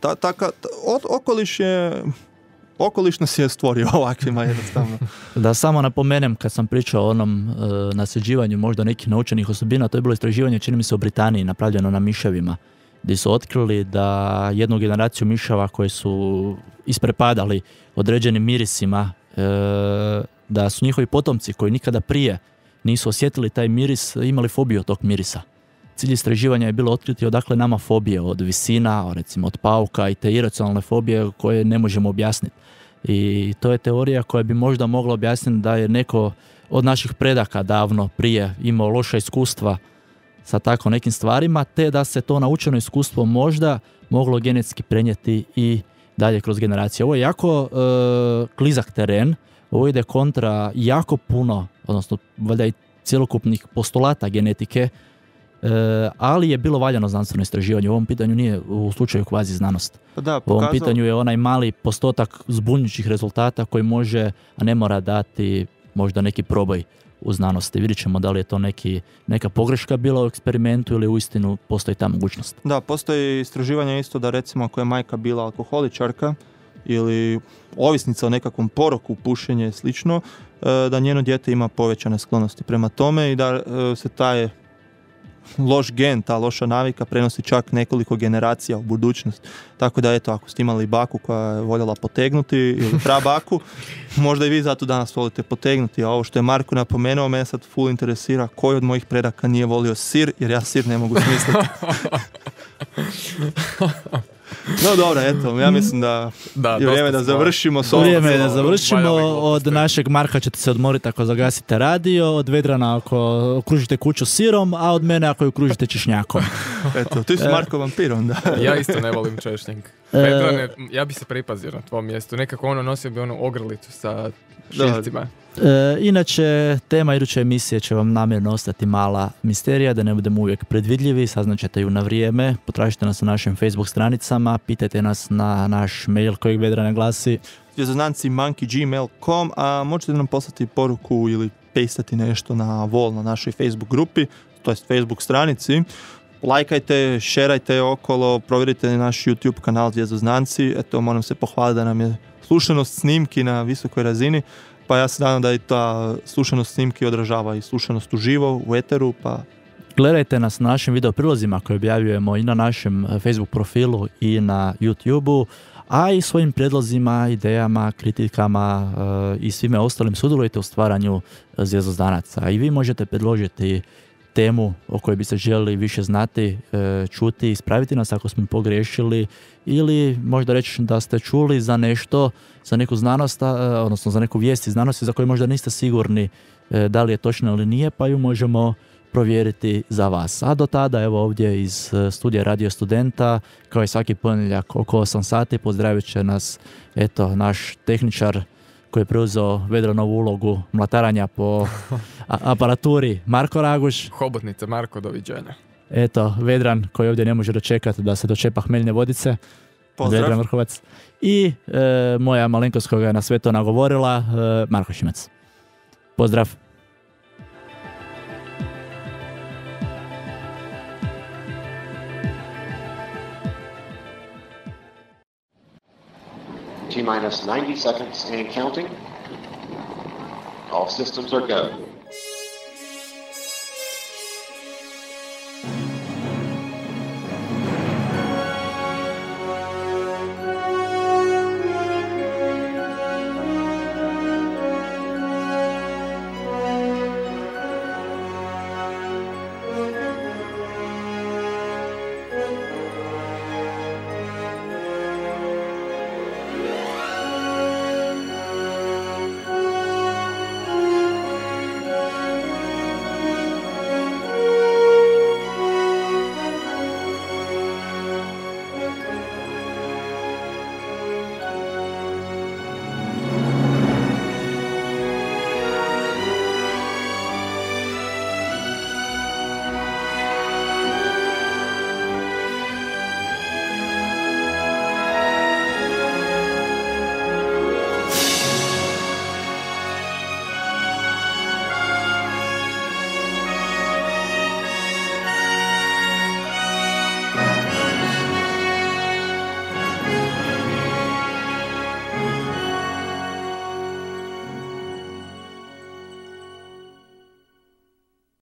okoliš nas je stvorio ovakvima jednostavno. Da samo napomenem, kad sam pričao o onom nasljeđivanju možda nekih naučenih osobina, to je bilo istraživanje, čini mi se, u Britaniji, napravljeno na miševima, gdje su otkrili da jednu generaciju miševa koji su isprepadali određenim mirisima, da su njihovi potomci koji nikada prije nisu osjetili taj miris, imali fobiju od tog mirisa. Cilj istraživanja je bilo otkriti odakle nama fobije, od visina, recimo od pauka i te iracionalne fobije koje ne možemo objasniti. I to je teorija koja bi možda mogla objasniti da je neko od naših predaka davno prije imao loša iskustva sa tako nekim stvarima, te da se to naučeno iskustvo možda moglo genetski prenijeti i dalje kroz generacije. Ovo je jako klizak teren, ovo ide kontra jako puno, odnosno valjda i cjelokupnih postulata genetike, ali je bilo valjano znanstveno istraživanje. U ovom pitanju nije u slučaju kvazi znanost. U ovom pitanju je onaj mali postotak zbunjujućih rezultata koji može, a ne mora dati možda neki proboj u znanosti. Vidjet ćemo da li je to neka pogreška bila u eksperimentu ili uistinu postoji ta mogućnost. Da, postoji istraživanje isto da recimo ako je majka bila alkoholičarka ili ovisnica o nekakvom poroku, pušenje i slično, da njeno dijete ima povećane sklonosti prema tome i da se taj loš gen, ta loša navika prenosi čak nekoliko generacija u budućnost. Tako da eto, ako ste imali baku koja je voljela potegnuti ili prabaku, možda i vi zato danas volite potegnuti. A ovo što je Marko napomenuo, mene sad full interesira koji od mojih predaka nije volio sir, jer ja sir ne mogu smisliti. No dobro, eto, ja mislim da je vrijeme da završimo s ovom. Vrijeme je da završimo. valjali Od gluposti. našeg Marka ćete se odmoriti ako zagasite radio, od Vedrana ako okružite kuću sirom, a od mene ako ju okružite češnjakom. Eto, ti si Marko vampir onda. Ja isto ne volim češnjak. Vedrane, ja bi se pripazio na tvom mjestu. Nekako nosio bi onu ogrlicu sa šiljcima. Inače, tema iduće emisije će vam namjerno ostati mala misterija, da ne budemo uvijek predvidljivi, saznaćete ju na vrijeme, potražite nas na našim Facebook stranicama, pitajte nas na naš mail kojeg Vedrana glasi Zvjezdozdanci monkey@gmail.com, a možete nam poslati poruku ili pastati nešto na wall na našoj Facebook grupi, to jest Facebook stranici. Lajkajte, šerajte okolo, provjerite naš YouTube kanal Zvjezdozdanci. Eto, moram se pohvaliti da nam je slušanost snimki na visokoj razini, pa ja se nadam da i ta slušanost snimki odražava i slušanost uživo u eteru, pa Gledajte nas na našim video prilozima koje objavljujemo i na našem Facebook profilu i na YouTubeu, a i svojim prijedlozima, idejama, kritikama i svime ostalim sudjelujte u stvaranju Zvjezdozdanaca. I vi možete predložiti temu o kojoj bi se željeli više znati, čuti, ispraviti nas ako smo pogriješili ili možda reći da ste čuli za nešto, za neku znanost, odnosno za neku vijest iz znanosti za koju možda niste sigurni da li je točno ili nije, pa ju možemo provjeriti za vas. A do tada, evo ovdje iz studija Radio Studenta, kao i svaki ponedjeljak oko 8 sati, pozdravit će nas eto naš tehničar koji je preuzeo Vedranovu ulogu mlataranja po aparaturi, Marko Raguš. Hobotnica, Marko, doviđenja. Eto, Vedran koji ovdje ne može dočekati da se dočepa hmeljne vodice. pozdrav. Vedran Vrhovac. I moja malenkost koja je na sve to nagovorila, Marko Šimac. Pozdrav. T-minus 90 seconds and counting. All systems are go.